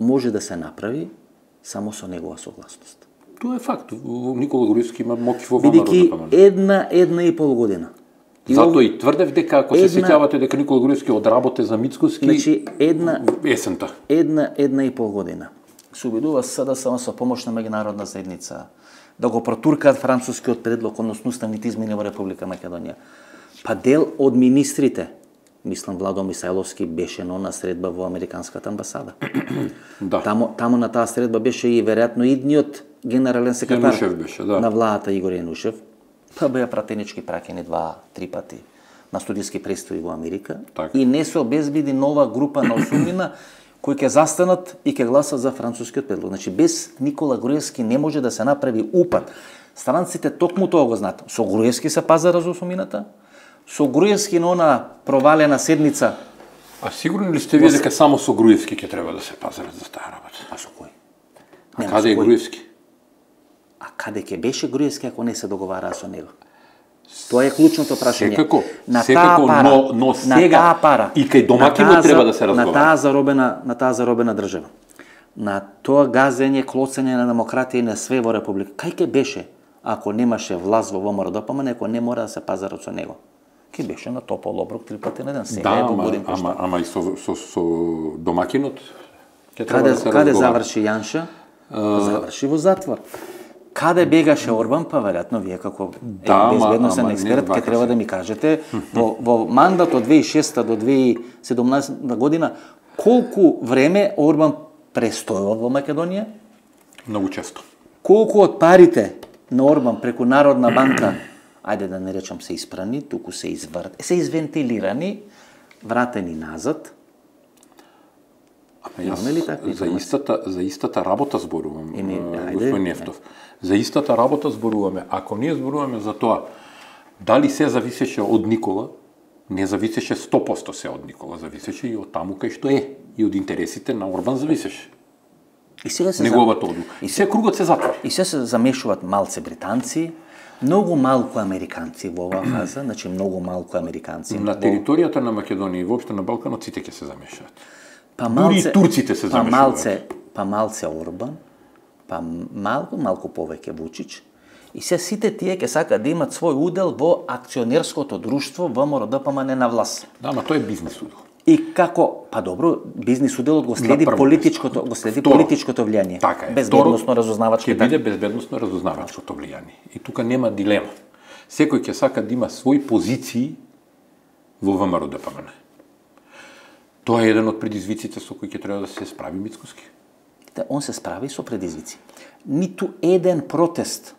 може да се направи само со негова согласност. Тоа е факт. Никола Груевски има моќ во ВМРО ДПМН. Бидејќи една и пол година. Затоа и тврдев дека, ако се сеќавате дека Никола Груевски одработе за Мицкоски, значи, есента. Една и пол година се обидува СДСМ со помош на меѓународна заедница да го протуркаат францускиот предлог, односно уставните измени во Република Македонија. Па дел од министрите, мислам Владо Мисајловски, беше на средба во Американската амбасада. Да. Таму на таа средба беше и веројатно идниот генерален секретар беше, да, на владата Игор Јанушев. Па беа пратенички праќани 2-3 пати на студиски престои во Америка. Так. И не се обезбеди нова група на осумнина кои ќе застанат и ќе гласат за францускиот предлог. Значи, без Никола Груевски не може да се направи упад. Странците токму тоа го знаат. Со Груевски се пазара за осумината, со Груевски на она провалена седница. А сигурни ли сте вие дека само со Груевски ќе треба да се пазарат за таа работа? А со кој? А каде е Груевски? А каде ќе беше Груевски ако не се договараа со него? Тоа е клучното прашање. Секако, но сега и кај домакинот треба да се разговара. На таа заробена држава. На тоа газење, клоцење на демократија и на све во Република. Кај ќе беше ако немаше власт во ВМРО ДПМН, ако не мора да се пазарат со него? ки беше на топол оброк 3 пати на ден. Сега Да, е во Будимпешта. ама и со домакинот ќе треба да се Каде разговара. заврши Јанша? Заврши во затвор. Каде бегаше Орбан, па веројатно вие како безбедносен ама експерт не ќе треба да ми кажете во мандат од 2006 до 2017 година колку време Орбан престојал во Македонија? Многу често. Колку од парите на Орбан преку Народна банка, ајде да не речам се испрани, туку се извентилирани, вратени назад? Имаме ли такви за истата работа зборувам, ајде, господин Нефтов. За истата работа зборуваме. Ако ние зборуваме за тоа, дали се зависеше од Никола, не зависеше 100% се од Никола, зависеше и од таму кај што е, и од интересите на Орбан зависеше. И сега се Неговата одлука. И се кругот се затвори. И се замешуваат малце британци, многу малку американци во оваа фаза, значи многу малку американци. На територијата на Македонија и воопшто на Балканот сите ќе се замешаат. Па Дури и турците се замешуваат. Па малце Орбан, па малку повеќе Вучич. И се сите тие ќе сакаат да имат свој удел во акционерското друштво ВМРО ДПМН на власт. Да, ама тоа е бизнис удел. И како, па добро, бизнис уделот го следи политичкото влијание. Така е. Безбедносно разузнавачко. Ќе биде безбедносно разузнавачкото влијание. И тука нема дилема. Секој ќе сака да има своји позиции во ВМРО ДПМН. Тоа е еден од предизвиците со кои ќе треба да се справи Мицкоски. Он се справи со предизвици. Ниту еден протест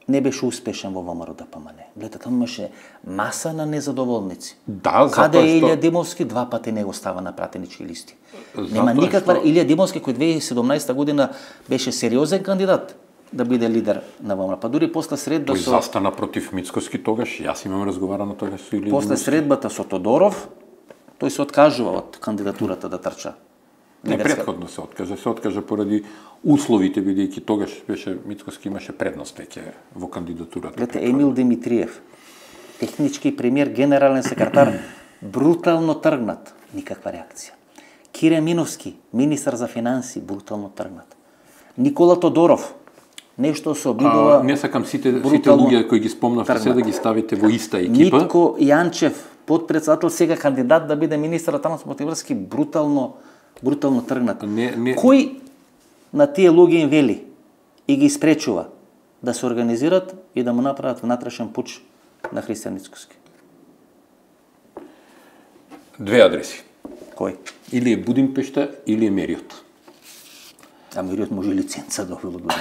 не беше успешен во ВМРО ДПМН. Гледате, таму имаше маса на незадоволници. Да, Каде е Илија Димовски, 2 пати не го става на пратенички листи. Нема никаква Илија Димовски кој 2017 година беше сериозен кандидат да биде лидер на ВМРО. Па дури после средба Тој застана против Мицкоски тогаш, јас имам разговарано тогаш со Илија. После средбата со Тодоров, тој се откажува од кандидатурата да трча. Не, претходно се откажа поради условите, бидејќи тогаш беше Мицкоски имаше предност веќе во кандидатурата. Гледате, Емил Димитриев, технички премиер, генерален секретар, брутално тргнат, никаква реакција. Кире Миновски, министар за финанси, брутално тргнат. Никола Тодоров, нешто се обидува. Не сакам сите луѓе кои ги спомнавте се да ги ставите во иста екипа. Митко Јанчев, подпредседател, сега кандидат да биде министар на транспортни врски, брутално тргнат. Кој на тие луѓе им вели и ги испречува да се организират и да му направат внатрешен пуч на Христијан Мицкоски? Две адреси. Кој? Или е Будимпешта, или е Мериот. А Мериот може лиценца да било добро.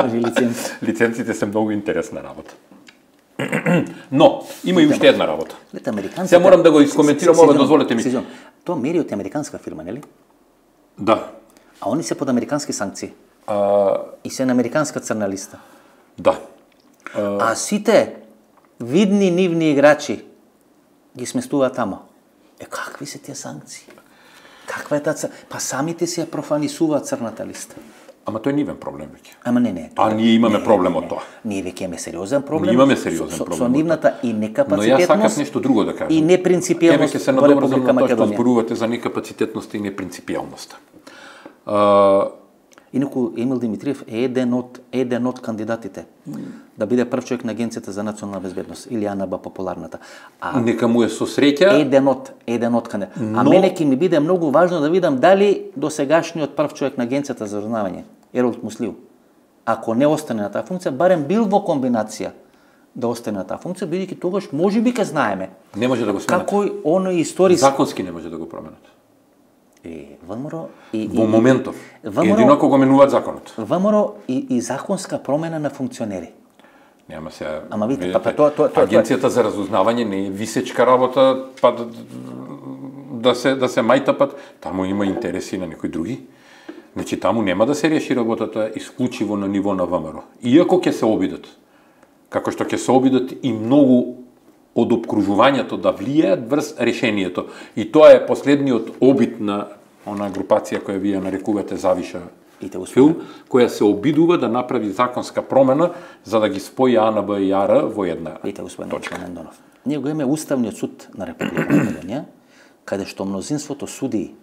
Може лиценца. Лиценците се многу интересна работа. Но, има и уште една работа. Сега морам да го искоментирам ова, дозволете ми. Тоа Мериот е американска фирма, нели? Да. А они се под американски санкции. И се на американска црна листа. Да. А сите видни нивни играчи ги сместуваат тамо. Какви се тие санкции? Каква е таа? Па самите си ја профанисуваат црната листа. Ама тој е нивен проблем веќе. Ама не. А ние имаме проблем од тоа. Ние веќе имаме сериозен проблем. Ние имаме сериозен проблем. Со нивната и некапацитетност. Но јас сакам нешто друго да кажам. И непринципиелност во Република Македонија. Тоа што зборувате за некапацитетност и непринципиелност. Инаку Емил Димитриев е еден од кандидатите да биде прв човек на Агенцијата за национална безбедност или АНБ популарната. Нека му е со среќа. Еден од кандидат. А мене ќе ми биде многу важно да видам дали досегашниот прв човек на Агенцијата за разузнавање, Еролд Муслиу, ако не остане на таа функција, барем бил во комбинација да остане на таа функција, бидејќи тогаш можеби ќе знаеме. Не може да го сменат. Како оној историски законски не може да го променат. ВМРО во моментов. Едино ако го менуваат законот. ВМРО и законска промена на функционери. Нема се. Ама видите, тоа Агенцијата за разузнавање не е висечка работа, па да се мајтапат, таму има интереси на некои други. Значи таму нема да се реши работата исклучиво на ниво на ВМРО. Иако ќе се обидат, како што ќе се обидат и многу од обкружувањето да влијаат врз решението. И тоа е последниот обид на она групација која вие нарекувате Завиша филм, која се обидува да направи законска промена за да ги спои АНБ и АР во една точка. Ние го имаме Уставниот суд на Република Македонија, каде што мнозинството суди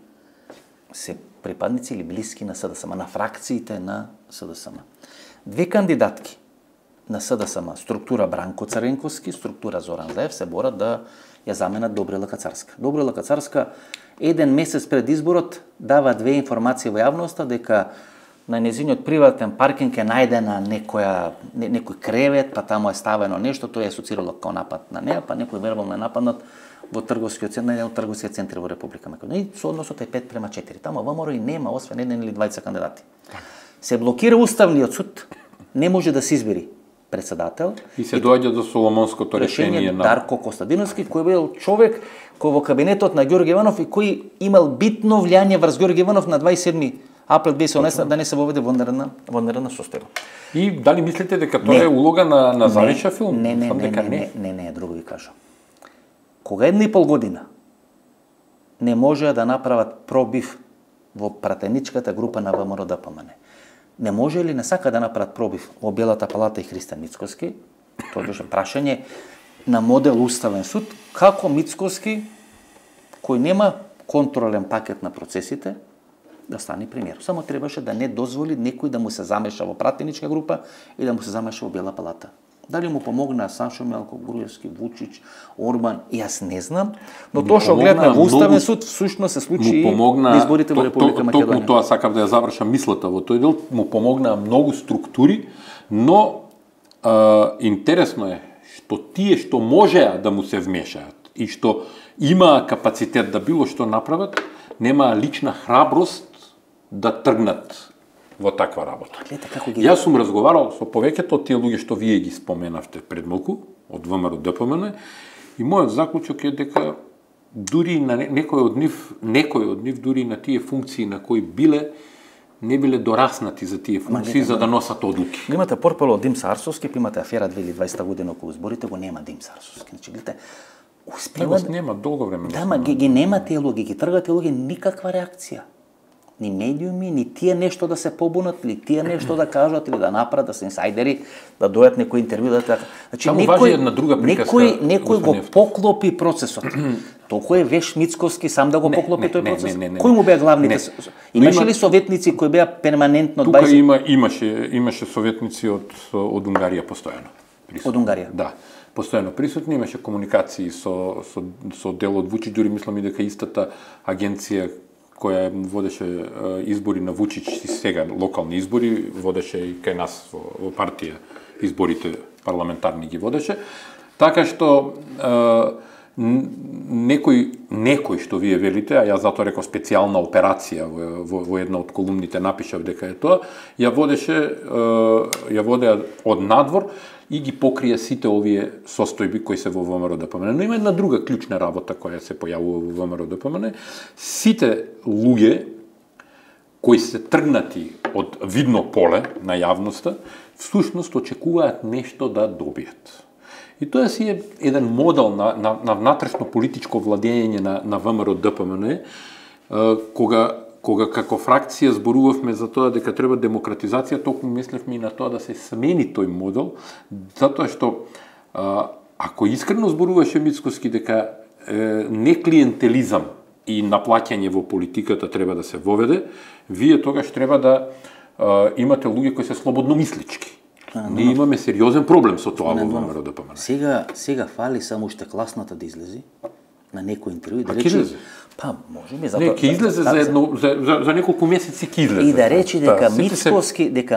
се припадници или блиски на СДСМ, на фракциите на СДСМ. Две кандидатки на СДСМ, структура Бранко Цренковски, структура Зоран Заев се борат да ја заменат Добрила Кацарска. Добрила Кацарска еден месец пред изборот дава две информации во јавноста дека на нејзиниот приватен паркинг е најдена некој кревет, па таму е ставено нешто, тоа е асоцирало како напад на неа, па некој вербално е нападнат во трговскиот центар, на еден од трговските центри во Република Македонија. И со односот е 5:4. Таму ВМРО и нема освен еден или двајца кандидати. Се блокира уставниот суд, не може да се избери председател. И се доаѓа до Соломонското решение на Дарко Костадиновски, кој бил човек кој во кабинетот на Ѓорѓе Иванов и кој имал битно влијание врз Ѓорѓе Иванов на 27 април 2018 да не се воведе во нервна состојба. И дали мислите дека тоа е улога на Завиша филм? Не, друго ви кажам. Кога 1,5 година не можеа да направат пробив во пратеничката група на ВМРО-ДПМН, не може ли не сака да направат пробив во Белата палата и Христијан Мицкоски, тоа беше прашање на модел Уставен суд, како Мицкоски, кој нема контролен пакет на процесите, да стане премиер. Само требаше да не дозволи некој да му се замеша во пратеничка група и да му се замеша во Бела палата. Дали му помогна Сашо Мелко, Груевски, Вучич, Орбан, јас не знам, но тоа што гледна во Уставен суд всушност се случи и на изборите во Република Македонија. Токму тоа сакав да ја завршам мислата во тој дел, му помогнаа многу структури, но интересно е што тие што можеа да му се вмешаат и што имаа капацитет да било што направат, немаа лична храброст да тргнат во таква работа. Јас сум разговарал со повеќето од тие луѓе што вие ги споменавте пред малку, од ВМРО-ДПМН, и мојот заклучок е дека дури на некој од нив дури на тие функции на кои биле, не биле дораснати за тие функции за да носат одлуки. Имате портфел од Димс Арсовски, па имате афера 2020 година околу изборите, го нема Димс Арсовски. Значи, гледате, успева нема долго време. Да, ма ги нема тие луѓе, ги тргат тие луѓе, никаква реакција. Ни медиуми, ни тие нешто да се побунат, или тие нешто да кажат, или да направат, да се инсайдери, да дојат некој интервју, да така. Значи, некој го поклопи процесот. Толку е веш Мицкоски сам да го поклопи тој процес. Кој му беа главните? Имаше ли советници кои беа перманентно 20? Тука имаше советници од Унгарија постојано. Од Унгарија? Да. Постојано присутни, имаше комуникации со дел од Вучич, дури мислам и дека истата агенција која водеше избори на Вучич и сега локални избори, водеше и кај нас во партија изборите парламентарни ги водеше. Така што некој што вие велите, а јас затоа реков специјална операција во една од колумните напишав дека е тоа, ја водеа од надвор и ги покрија сите овие состојби кои се во ВМРО-ДПМН. Но има една друга клучна работа која се појавува во ВМРО-ДПМН. Сите луѓе кои се тргнати од видно поле на јавноста, всушност очекуваат нешто да добијат. И тоа си е еден модел на внатрешно политичко владење на ВМРО-ДПМН, кога како фракција зборувавме за тоа дека треба демократизација, токму мислевме и на тоа да се смени тој модел, затоа што ако искрено зборуваше Мицкоски дека не клиентелизам и наплаќање во политиката треба да се воведе, вие тогаш треба да имате луѓе кои се слободно мислички. Ние имаме сериозен проблем со тоа во ВМРО-ДПМН. Сега фали само уште класната да излези на некој интервју и да рече. Па, може би затоа. Не, ќе излезе за неколку месеци ќе излезе. И да рече дека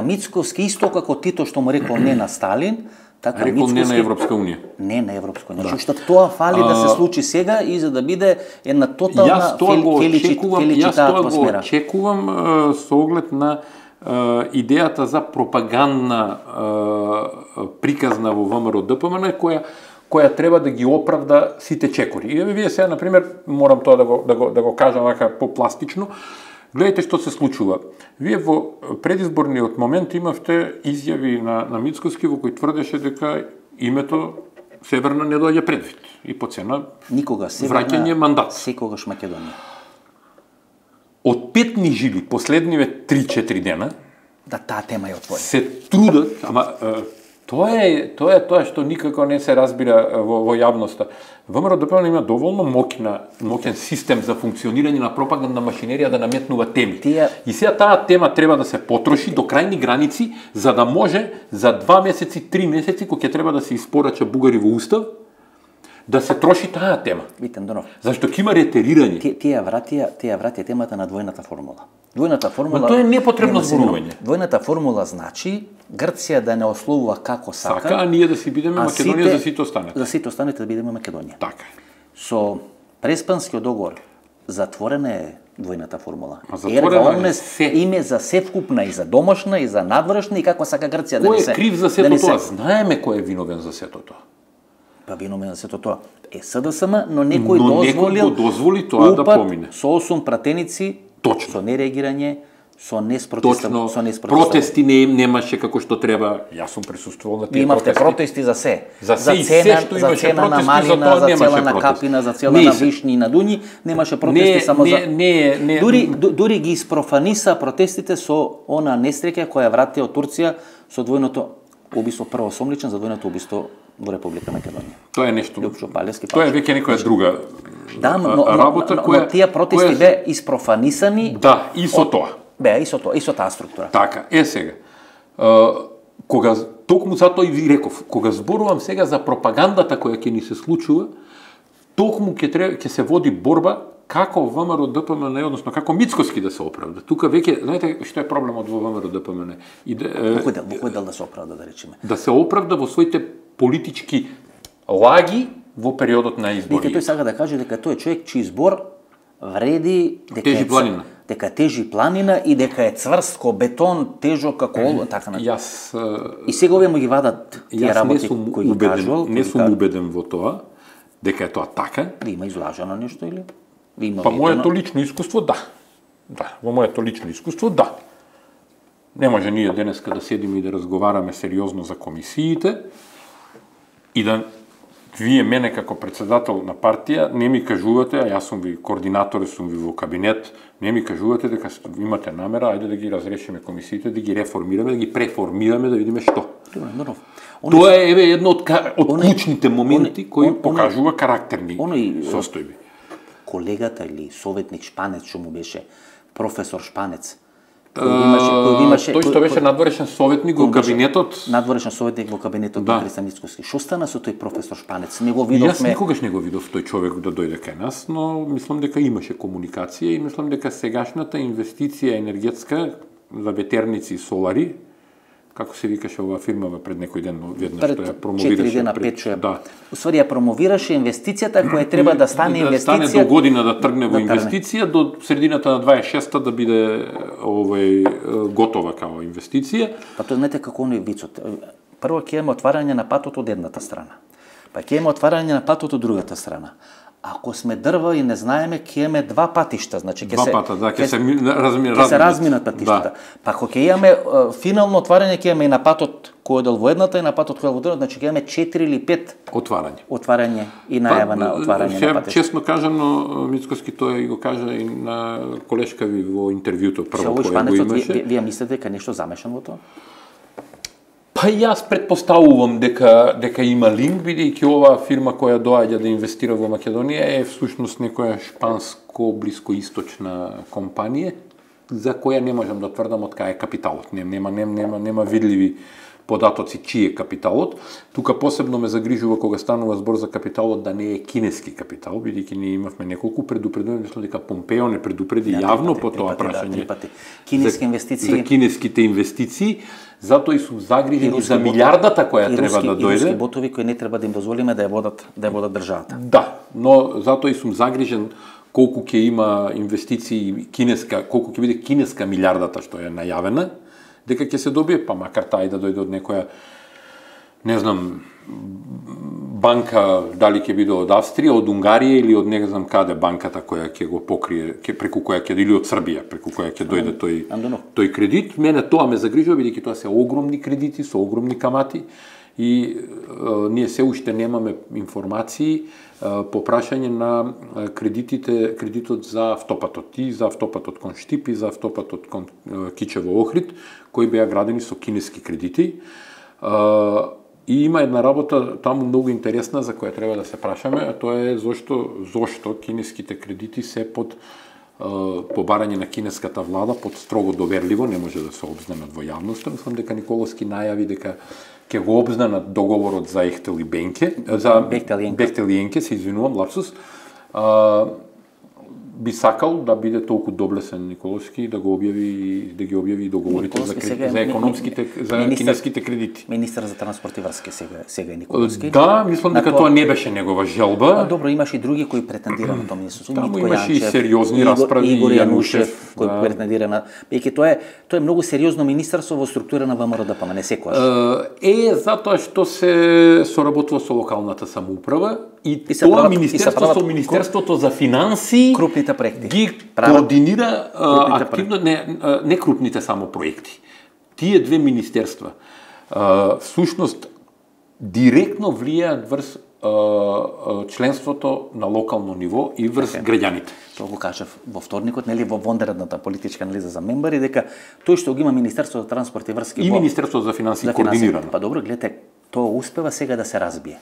Мицкоски исто како Тито што му рекол не на Сталин, така Мицкоски не на Европска унија. Не на Европска унија. Значи што тоа фали да се случи сега и за да биде една тотална феличита атмосфера. Јас тоа го очекувам со оглед на идејата за пропагандна приказна во ВМРО-ДПМН која треба да ги оправда сите чекори. И вие сега, например, морам тоа да го кажам вака попластично, гледайте што се случува. Вие во предизборниот момент имавте изјави на Мицкоски во кој тврдеше дека името Северна не доаѓа предвид и по цена никога враќање мандат. Секогаш Македонија. Од петни жили последниве 3-4 дена да таа тема е отворена. Се трудат, ама Тоа е тоа што никако не се разбира во јавноста. ВМРО ДПМН има доволно моќен систем за функционирање на пропагандна машинерија да наметнува теми. И сега таа тема треба да се потроши до крајни граници, за да може за 2 месеци, 3 месеци, кога ќе треба да се испорача бугари во устав, да се троши таа тема. Витен Донов. Зашто ќе има ретерирање. Тие вратија темата на двојната формула. Двојната формула. Но тоа е непотребно зборување. Двојната формула значи Грција да не ословува како сака, а ние да си бидеме Македонија за сите останете. За сите останете да бидеме Македонија. Така. Со Преспанскиот договор затворена е двојната формула. Ерга омнес име за севкупна и за домашна и за надворешна и како сака Грција да не се. Кој е крив за сето тоа? Знаеме кој е виновен за сето тоа. Па виновен за сето тоа е СДСМ, но некој дозволи тоа да помине. Со 8 пратеници, точно, со нереагирање, со протести немаше како што треба. Јас сум присуствувал на тие протести. Имавте протести за се. За цена на малина, за цена на капина, за цена на вишни и на дуњи, немаше протести само за. Дури ги испрофаниса протестите со она несреќа која врати од Турција со двојното убиство, прво сомличен за двојното убиство во Република Македонија. Тоа е нешто. Тоа е веќе некоја друга работа која тие протести беа испрофанисани. Да, и со тоа. Беа и со тоа, и со таа структура. Така, сега. Кога токму затоа и ви реков, кога зборувам сега за пропагандата која ќе ни се случува, токму ќе се води борба како ВМРО ДПМН, односно како Мицкоски да се оправда. Тука веќе, знаете што е проблемот во ВМРО ДПМН? Во кој дел да се оправда, да речеме? Да се оправда во своите политички лаги во периодот на избори. Тој сака да каже дека тој е човек чиј збор вреди дека тежи планина и дека е цврст ко бетон, тежок како олово, така на. И сега овие му ги вадат тие работи кои ги кажувал. Не сум убеден во тоа дека е тоа така. Има излажено нешто или? Па моето лично искуство да. Да, во моето лично искуство да. Не може ние денеска да седиме и да разговараме сериозно за комисиите и да вие мене како председател на партија не ми кажувате, а јас сум ви координатор, сум ви во кабинет, не ми кажувате дека имате намера, ајде да ги разрешиме комисиите, да ги реформираме, да ги преформираме, да видиме што. Тоа е едно од клучните моменти кои покажува карактерни состојби. Колегата или советник Шпанец, што му беше професор Шпанец, тој што беше надворешен советник во кабинетот. Надворешен советник во кабинетот на Христо Мицкоски. Што стана со тој професор Шпанец? Не го видовме. Јас никогаш не го видов тој човек да дојде кај нас, но мислам дека имаше комуникација и мислам дека сегашната инвестиција енергетска за ветерници и солари, како се викаше оваа фирма пред некој ден, веднаш што ја промовираше. 4 дена, 5 да. Уствари ја промовираше инвестицијата која треба да стане инвестиција. Да стане до година да тргне во инвестиција, до средината на 26-та да биде готова како инвестиција. Па тоа знаете како оној вицот. Прво ќе имаме отварање на патот од едната страна. Па ќе имаме отварање на патот од другата страна. Ако сме дрва и не знаеме, ќе имаме два патишта, значи ќе се разминат патиштата. Па ако ќе имаме финално отварање, ќе имаме и на патот кој одел во едната и на патот кој одел во другата, значи ќе имаме 4 или 5 отварање и најава на отварање на патишта. Честно кажано, Мицкоски тоа и го кажа и на колешка ви во интервјуто прво кој го имаше. Вие мислите дека нешто замешан во тоа? Па јас претпоставувам дека има линк, бидејќи оваа фирма која доаѓа да инвестира во Македонија е всушност некоја шпанско блискоисточна компанија за која не можам да тврдам од кај е капиталот. Нема видливи податоци чиј е капиталот. Тука посебно ме загрижува кога станува збор за капиталот да не е кинески капитал, бидејќи ние имавме неколку предупредувања, мислам дека Помпео не предупреди јавно по тоа прашање. Кинески инвестиции. За кинеските инвестиции. Затоа и сум загрижен за милиардата која треба да дојде. И руски ботови кои не треба да им дозволиме да ја водат државата. Да, но затоа и сум загрижен колку ќе има инвестиции кинеска, колку ќе биде кинеска милиардата што е најавена, дека ќе се добие, па макар тај да дојде од некоја, не знам, банка, дали ќе биде од Австрија, од Унгарија или од не знам каде банката која ќе го покрие, преку која ќе или од Србија, преку која ќе дојде тој кредит. Мене тоа ме загрижува, бидејќи тоа се огромни кредити со огромни камати и ние се уште немаме информации по прашање на кредитот за автопатот и за автопатот кон Штип и за автопатот кон Кичево Охрид, кои беа градени со кинески кредити. И има една работа таму многу интересна за која треба да се прашаме, а тоа е зошто кинеските кредити се под побарање на кинеската влада под строго доверливо, не може да се обзнанат во јавноста. Мислам дека Николовски најави дека ќе го обзнанат договорот за Ехтел и Бенке, за Бехтел и Енке, се извинувам, лапсус. Би сакал да биде толку доблесен Николовски да ги објави договорите за економските, за кинеските кредити. Министар за транспорт и врски сега е Николовски. Да, мислам дека тоа не беше негова желба. Добро, имаше и други кои претендира на тоа министерство. Таму имаше и сериозни расправи, Игор Јанушев кој претендира на веќе тоа е многу сериозно министерство во структура на ВМРО-ДПМН, не секогаш. Затоа што се соработува со локалната самоуправа и тоа министерство со Министерството за финансии крупните проекти ги координира активно не крупните само проекти. Тие две министерства всушност директно влијаат врз членството на локално ниво и врз граѓаните. Тоа го кажав во вторникот, нели во вонредната политичка анализа за мембари, дека тој што го има Министерството за транспорт и врски и Министерството за финансии координирано. Па добро, гледате, тоа успева сега да се разбие.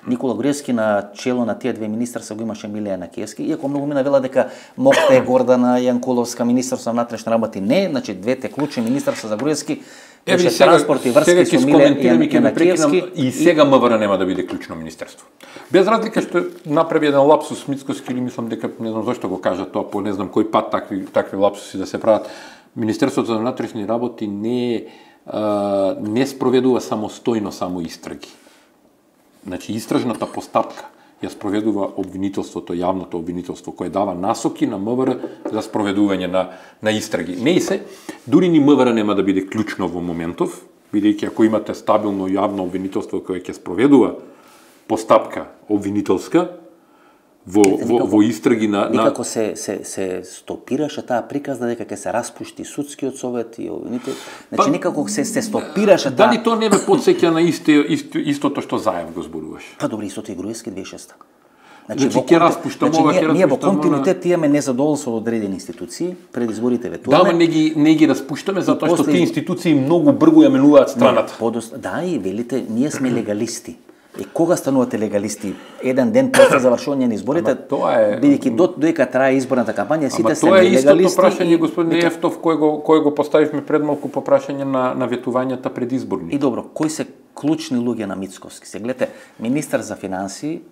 Никола Груевски на чело на тие две министерства го имаше Милијана Киевски, иако многу мина вела дека Мокте, Гордана Јанкуловска, Министерство на внатрешни работи не, значи двете клучни министерства за Груевски беше транспорт и врски со Милијана Киевски и сега МВР нема да биде клучно министерство. Без разлика што направи еден лапсус Мицкоски, или мислам дека не знам зошто го кажа тоа, по не знам кој пат такви лапсуси да се прават. Министерството за внатрешни работи не спроведува самостојно само истраги. Значи, истражната постапка ја спроведува обвинителството, јавното обвинителство, кое дава насоки на МВР за спроведување на истраги. Не и се, дури ни МВР нема да биде клучно во моментов, бидејќи ако имате стабилно јавно обвинителство кое ќе спроведува постапка обвинителска, во истраги на некако се стопираше таа приказна дека ќе се распушти судскиот совет и значи некако се стопираше таа. Дали тоа не ме потсеќа на истото што Заев го зборуваш? Па добро, истото и Груевски 2006. Значи ќе распуштам ова, ќе распуштам. Ние во континуитет имаме незадоволство од одредени институции, пред изборите ветуваме. Да, не ги распуштаме затоа што тие институции многу брзо ја менуваат страната. Да, и велите, ние сме легалисти. И кога станувате легалисти? Еден ден после завршување на изборите, бидејќи додека трае изборната кампања, сите се легалисти. Тоа е истото прашање, господин Ефтов, кој го поставивме пред малку по прашање на ветувањата предизборни. И добро, кои се клучни луѓе на Мицкоски? Се гледате, министар за финансии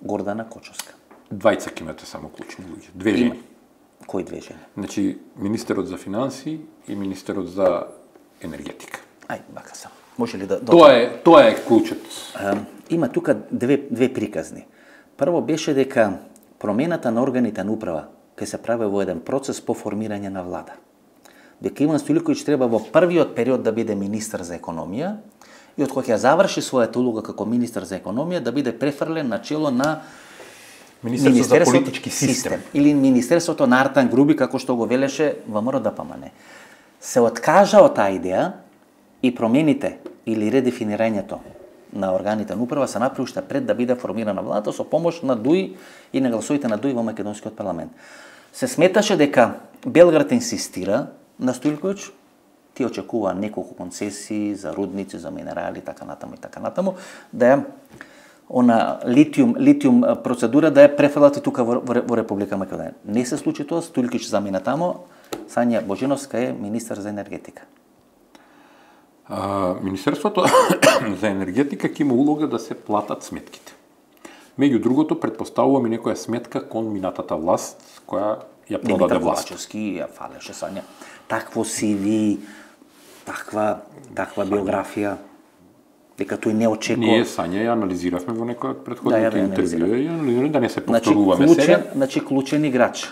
Гордана Кочовска. Двајца ќе имате само клучни луѓе, две жени. Кои две жени? Значи, министерот за финансии и министерот за енергетика. Бака сам. Може ли да Тоа е клучот. Има тука две приказни. Прво беше дека промената на органите на управа ќе се прави во еден процес по формирање на влада. Дека Иван Стоилковиќ треба во првиот период да биде министар за економија и од кога ќе заврши својата улога како министар за економија да биде префрлен на чело на Министерството за политички систем или Министерството на Артан Груби, како што го велеше ВМРО-ДПМН. Се откажа од таа идеја и промените или редефинирањето на органите на управа се направи уште пред да биде формирана владата со помош на ДУИ и на гласовите на ДУИ во македонскиот парламент. Се сметаше дека Белград инсистира на Стоилковиќ, тие очекува неколку концесии за рудници, за минерали, така натаму, да ја она литиум процедура да ја префрлат и тука во Република Македонија. Не се случи тоа, Стоилковиќ замина тамо, Сања Божиновска е министар за енергетика. Министерството за енергетика ќе има улога да се платат сметките. Меѓу другото, предпоставувам и некоја сметка кон минатата власт, која ја продаде власт. Ковачевски ја фалеше Сања. Такво CV, таква биографија, дека тој не очекува. Ние Сања ја анализиравме во некој од претходните интервјуи, да не се повторуваме сега. Значи клучен играч.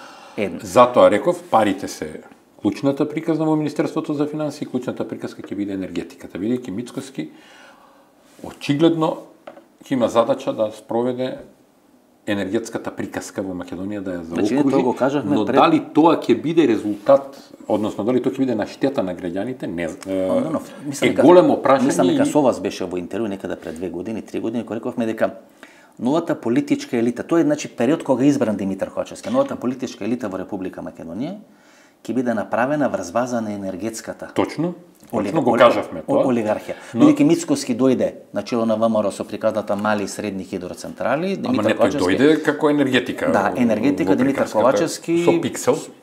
Затоа реков, парите се клучната приказна во Министерството за финансии, клучната приказка ќе биде енергетиката, бидејќи Мицкоски очигледно ќе има задача да спроведе енергетската приказка во Македонија, да ја заокружи, но дали тоа ќе биде резултат, односно дали тоа ќе биде на штета на граѓаните, не е големо прашање. Мислам дека со вас беше во интервју некаде пред 2 години, 3 години, кога рековме дека новата политичка елита, тоа е значи период кога избран Димитар Ковачевски, новата политичка елита во Република Македонија ќе биде направена врз база на енергетската Точно го кажавме тоа. Олигархија. Бидејќи Мицкоски дојде на чело на ВМРО со приказната мали и средни хидроцентрали, Ама не, тој дојде како енергетика. Да, енергетика, Димитар Ковачевски, со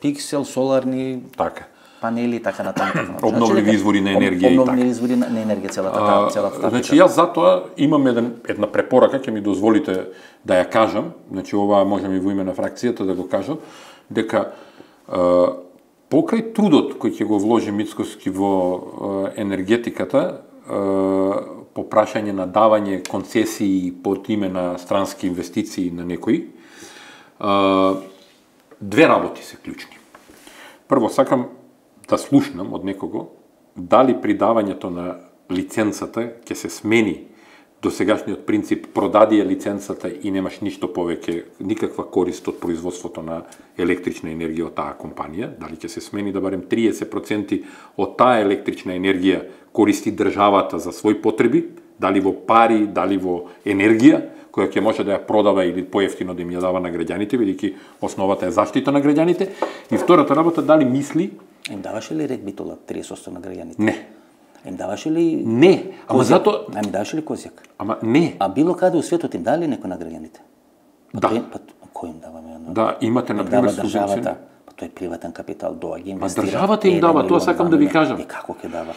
Пиксел, соларни така панели, така натаму. Обновливи извори на енергија и така. Обновливи извори на енергија, целата. Значи јас затоа имам една препорака, ќе ми дозволите да ја кажам, значи ова можеме и во име на фракцијата да го кажам, дека покрај трудот кој ќе го вложи Мицкоски во енергетиката, по прашање на давање концесии под име на странски инвестиции на некои, две работи се клучни. Прво, сакам да слушнам од некого дали при давањето на лиценцата ќе се смени досегашниот принцип продади ја лиценцата и немаш ништо повеќе, никаква корист од производството на електрична енергија од таа компанија, дали ќе се смени да барем 30% од таа електрична енергија користи државата за своји потреби, дали во пари, дали во енергија, која ќе може да ја продава или поевтино да им ја дава на граѓаните, бидејќи основата е заштита на граѓаните. И втората работа, дали мисли... Им даваше ли рек битола 30% на граѓаните? Не. Им даваше ли... Не, ама зато... Им даваше ли козјак? Ама не. А било каде у светот им дали некој на граѓаните? Да. Кој им дава? Да, имате, например, субвенции. Тој е приватен капитал, доаѓа инвестира. Државата им дава, тоа сакам да ви кажам. И како ќе дава?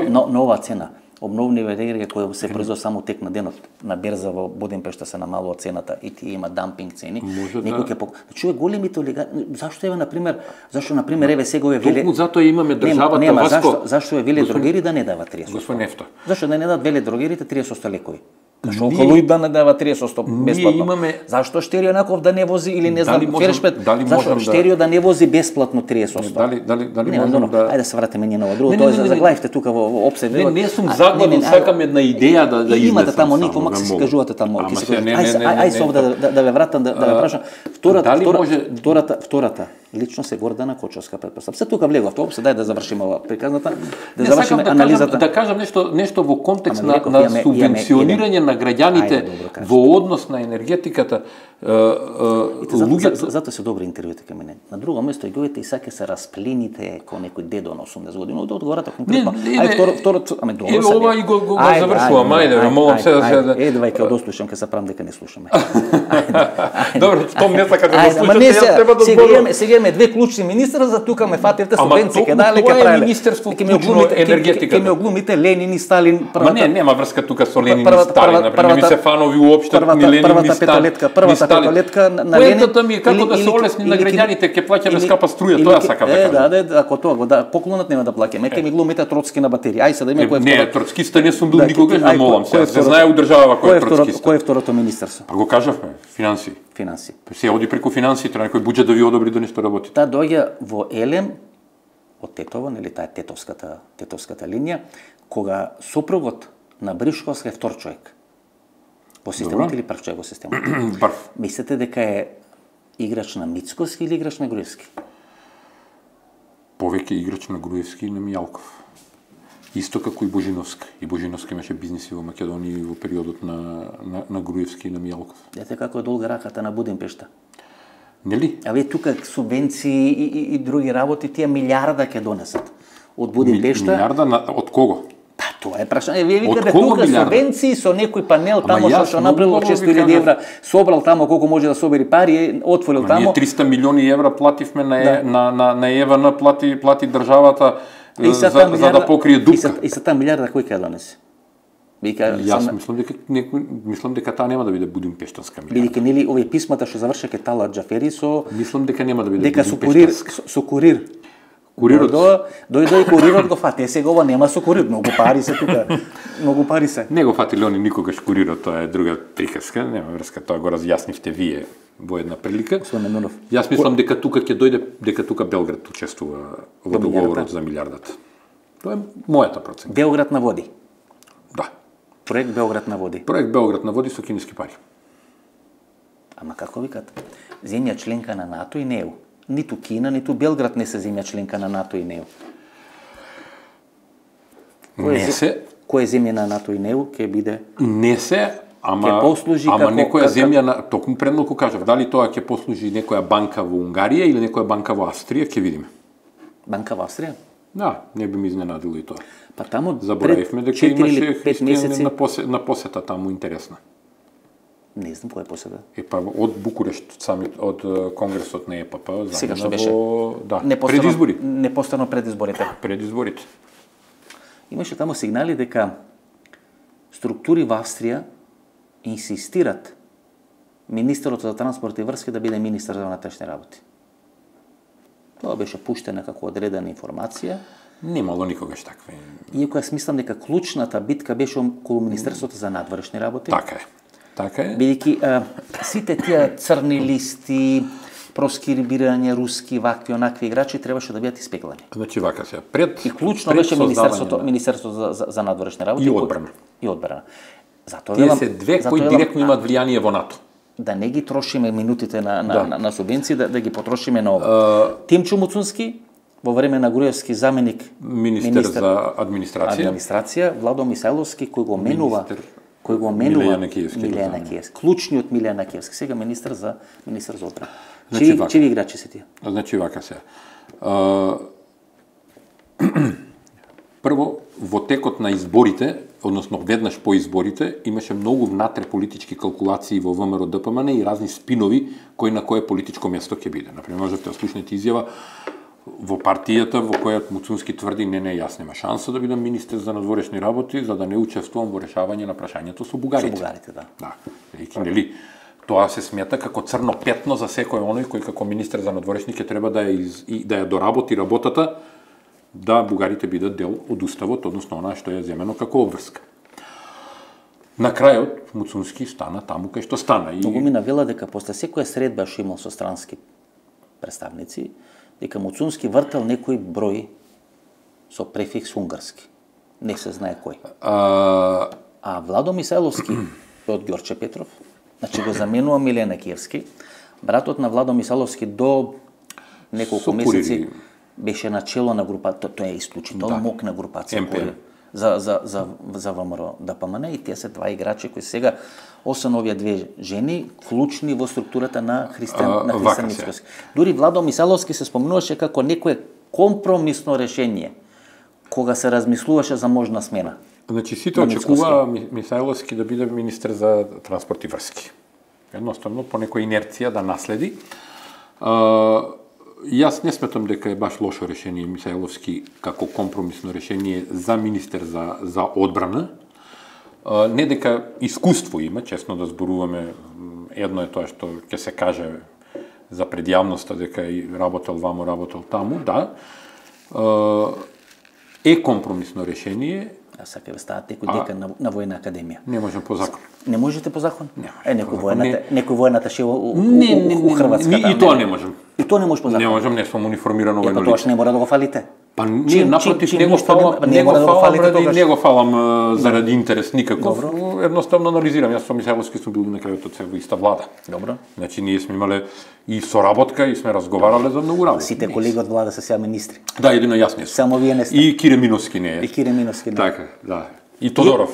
Но ова цена, обновливи енергија која се производи само тек на денот на берза во Будимпешта се намалува цената и тие има дампинг цени. Некој ќе чуе големите олигарси. Зашто еве сега овие веле... Токму затоа имаме државата Васко. Зашто е веле дрогери да не дава 30%? Господин Нефто. Зашто да не дадат веле дрогерите 30% лекови? Зашто околу и да не дава 30% бесплатно? Зашто Штерио Наков да не вози или не знам Фершпет? Зашто Штерио да не вози бесплатно 30%? Дали можам да... Ајде да се вратиме ние на ова друго, тоа заглавивте тука во опсет. Не сум заглавен, сакам една идеја да изнесам. Имате таму никво макси се кажувате таму. Ај се овде да ве вратам да ве прашам. Втората лично се Гордана Кочовска претпоставка. Се тука влегов тоа опсет, дај да завршиме ова приказната, да завршиме анализата. Да кажам нешто во контекст на субвенционирање на граѓаните во однос на енергетиката. Затоа се добри интервјуите кај мене. На друго место ѓовите и саке се расплените ко некој дедо на 80 години. Да одговорате конкретно. Ај второто, аме добро. Еве ова и го завршувам. Ајде, молам се да се. Едвај ќе дослушам, ќе се правам дека не слушаме. Добро, том не сака да го слушате, јас треба да зборувам. Сега имаме две клучни министри, за тука ме фативте субвенции ќе дали ќе правеле. Тоа е министерство клучно енергетика. Ќе ме оглумите Ленин и Сталин. Ама не, нема врска тука со Ленин и Сталин, например, ми се фанови уопште ни Ленин ни Сталин. Првата петолетка на Ленин. Поентата ми е како да се олесни на граѓаните, ќе плаќаме скапа струја, тоа сакам да кажам. Да, ако тоа го да поклонот нема да плаќаме, ќе ми глумите Троцки на батерија. Ај се да име кој е. Не, троцкиста не сум бил никогаш, да молам се. Се знае у држава кој е троцкиста. Кој е второто министерство? Па го кажавме, финансии. Се оди преку финансии, треба некој буџет да ви одобри да нешто работи. Таа доаѓа во Елем од Тетово, нели таа тетовската линија, кога сопругот на Бришковска е втор човек. Во системот или прв човек во системот? Прв. Мислите дека е играч на Мицкоски или играч на Груевски? Повеќе играч на Груевски и на Мијалков. Исто како и Божиновска. И Божиновска имаше бизниси во Македонија во периодот на Груевски и на Мијалков. Дете како е долга раката на Будимпешта. Нели? А вие тука субвенции и други работи, тие милиарда ќе донесат од Будимпешта. Милиарда од кого? Па тоа е прашање. Вие викате тука субвенции со некој панел тамо што направил 600.000 евра, собрал тамо колку може да собери пари, отворил тамо. Ние 300 милиони евра плативме на ЕВН, плати државата за да покрие дупка. И за таа милиарда кој ќе донесе? Јас мислам дека таа нема да биде Будимпештанска милиарда. Бидејќи нели овие писмата што завршеа Тала Џафери со мислам дека нема да биде Будимпештанска. Со курир. Курирот дојде и курирот го фати. Сега ова нема со курир, многу пари се тука. Многу пари се. Не го фати Леони никогаш курирот, тоа е друга приказка, нема врска, тоа го разјаснивте вие во една прилика. Јас мислам дека тука ќе дојде, дека тука Белград учествува во договорот за милиардата. Тоа е мојата процена. Белград на води. Да. Проект Белград на води. Проект Белград на води со кинески пари. Ама како викат? Земја членка на НАТО и НЕУ. Ниту Кина, ниту Белград не се земја членка на НАТО и НЕУ. Која земја на НАТО и НЕУ ќе биде? Не се, ама некоја земја, токму предмалку кажав, дали тоа ќе послужи некоја банка во Унгарија или некоја банка во Австрија, ќе видиме. Банка во Австрија? Да, не би ми изненадило и тоа. Па таму заборавивме дека имаше христијани на посета таму интересна. Не знам која посета. Па од Букурешт самит, од конгресот на ЕПП, сега што беше? Да, пред избори. Непостано пред изборите. Пред изборите. Имаше таму сигнали дека структури во Австрија инсистират министерот за транспорт и врски да биде министер за внатрешни работи. Тоа беше пуштена како одредена информација. Немало никогаш таква. Иако јас мислам дека клучната битка беше околу Министерството за надворешни работи. Така е. Така е. Бидејќи сите тие црни листи, проскрибирање руски, вакви, онакви играчи требаше да бидат испеглани. Значи вака се. Пред и клучно беше Министерството за надворешни работи и одбрана. И одбрана. Затоа тие се две кои директно имаат влијание во НАТО. Да не ги трошиме минутите на субвенции, да ги потрошиме на ова. Тимчо Муцунски во време на Груевски заменик министер за администрација, Владо Мисајловски кој го менува Милејан Киевски. Клучниот Милејан Киевски, сега министер за одбрана. Чиви играчи се тие? Значи вака се. Прво, во текот на изборите, односно веднаш по изборите, имаше многу внатре политички калкулации во ВМРО ДПМН и разни спинови кој на кое политичко место ќе биде. Например, можете да слушнете изјава во партијата во која Муцунски тврди не јас нема шанса да бидам министер за надворешни работи за да не учествувам во решавање на прашањето со бугарите. Да. Нели, тоа се смета како црно петно за секој оној кој како министер за надворешни ќе треба да ја доработи работата да бугарите бидат дел од уставот, односно она што е земено како обврска. На крајот Муцунски стана таму кај што стана. Многу ми навела дека после секоја средба што имал со странски представници, дека Муцунски вртел некој број со префикс унгарски. Не се знае кој. А Владо Мисајловски од Ѓорче Петров, значи го заменува Милејан Киевски, братот на Владо Мисајловски до неколку месеци беше начело на групата, тоа е исклучително мокна групација за ВМРО ДПМН и тие се два играчи кои сега освен овие две жени клучни во структурата на Христијан Мицкоски. Дури Владо Мисајловски се спомнуваше како некое компромисно решение кога се размислуваше за можна смена. Значи сите очекува Мисајловски да биде министер за транспорт и врски. Едноставно по некоја инерција да наследи. Јас не сметам дека е баш лошо решение Мисајловски како компромисно решение за министер за одбрана. Не дека искуство има, честно да зборуваме, едно е тоа што ќе се каже за пред јавноста дека и работел вамо, работел таму, да. Е компромисно решение. А сака ве стават некој декан на војна академија. Не можем по закон. Не можете по закон? Некој војната шева у Хрватска. И тоа не можем. И тоа не може по закон. Не можем, не сум униформирано војно лице. Тоа што не мора да го фалите. Па ние напротив не го фалам заради интерес никаков. Едноставно анализирам. Јас со Мисајловски сум бил на крајот од се во иста влада. Добро. Значи ние сме имале и соработка и сме разговарале за многу работи. Сите колеги од влада се сега министри. Да, едино јас не сум. Само вие не сте. И Кире Миновски не е. И Кире Миновски не е. Така, да. И Тодоров.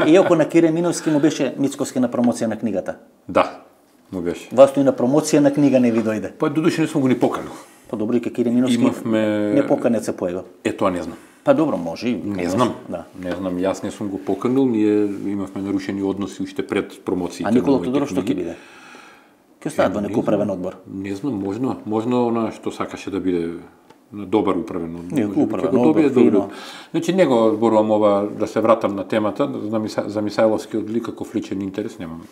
Иако на Кире Миновски му беше Мицкоски на промоција на книгата. Да, му беше. Вас и на промоција на книга не ви дојде. Па додуше не сум го ни поканил. Па добро и Кире Миновски не поканет се појава. Тоа не знам. Па добро, може и. Не знам. Да. Не знам, јас не сум го поканил, ние имавме нарушени односи уште пред промоциите. А Никола Тодоров што ќе биде? Ќе остават во некој управен одбор? Не знам, можно она што сакаше да биде добар управен одбор. Некој управен одбор. Значи не го зборувам ова да се вратам на темата за Мисајловски од никаков личен интерес, немам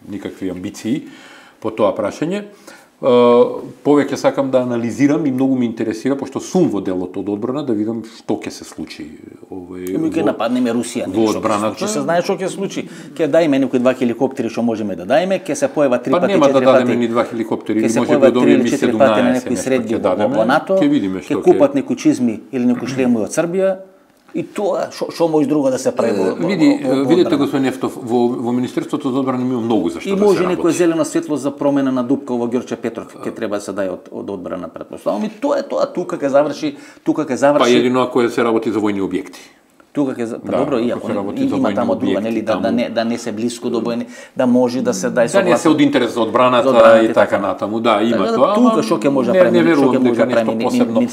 никакви амбиции по тоа прашање. Повеќе сакам да анализирам и многу ме интересира, пошто сум во делот од одбрана, да видам што ќе се случи. Ќе нападнеме Русија, што се знае што ќе се случи. Ќе дајме некои 2 хеликоптери што можеме да дајме, ќе се појава 3 пати, 4 пати. Па нема да дадеме ни 2 хеликоптери, може да добиеме 17 на некои средби во НАТО. Ќе купат некои чизми или некои шлемови од Србија. И тоа, што може друго да се прави во видите, господин Ефтов, во Министерството за одбрана има многу за што да се работи. И може некој зелено светло за промена на дупка во Ѓорче Петров, ќе треба да се дај од одбрана претпоставувам. И тоа е тоа, тука ќе заврши. Па едино ако се работи за војни објекти. Тука ќе добро, иако има таму друга, нели, да не се блиску до војни, да може да се дај согласие. Да не се од интерес за одбраната и така натаму, да, има тоа. Тука што ќе може да прави, не верувам дека нешто посебно.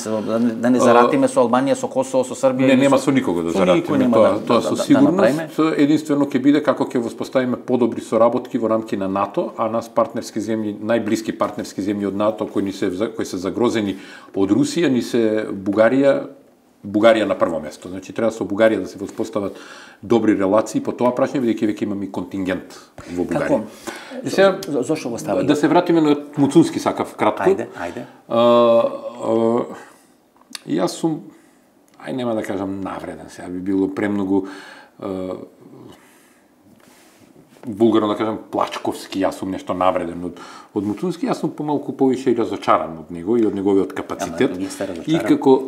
Да не заратиме со Албанија, со Косово, со Србија. Не, нема со никого да заратиме, тоа со сигурност. Единствено ќе биде како ќе воспоставиме подобри соработки во рамки на НАТО, а нас партнерски земји, најблиски партнерски земји од НАТО кои се загрозени од Русија, ни се Бугарија на прво место. Значи треба со Бугарија да се воспостават добри релации по тоа прашање, бидејќи веќе имаме и контингент во Бугарија. Како? Зошто го стави? Да се вратиме на Муцунски сакав кратко. Ајде. Јас сум, нема да кажам навреден, сега би било премногу булгарно да кажам плачковски, јас сум нешто навреден од Муцунски, јас сум помалку повише и разочаран од него и од неговиот капацитет. И како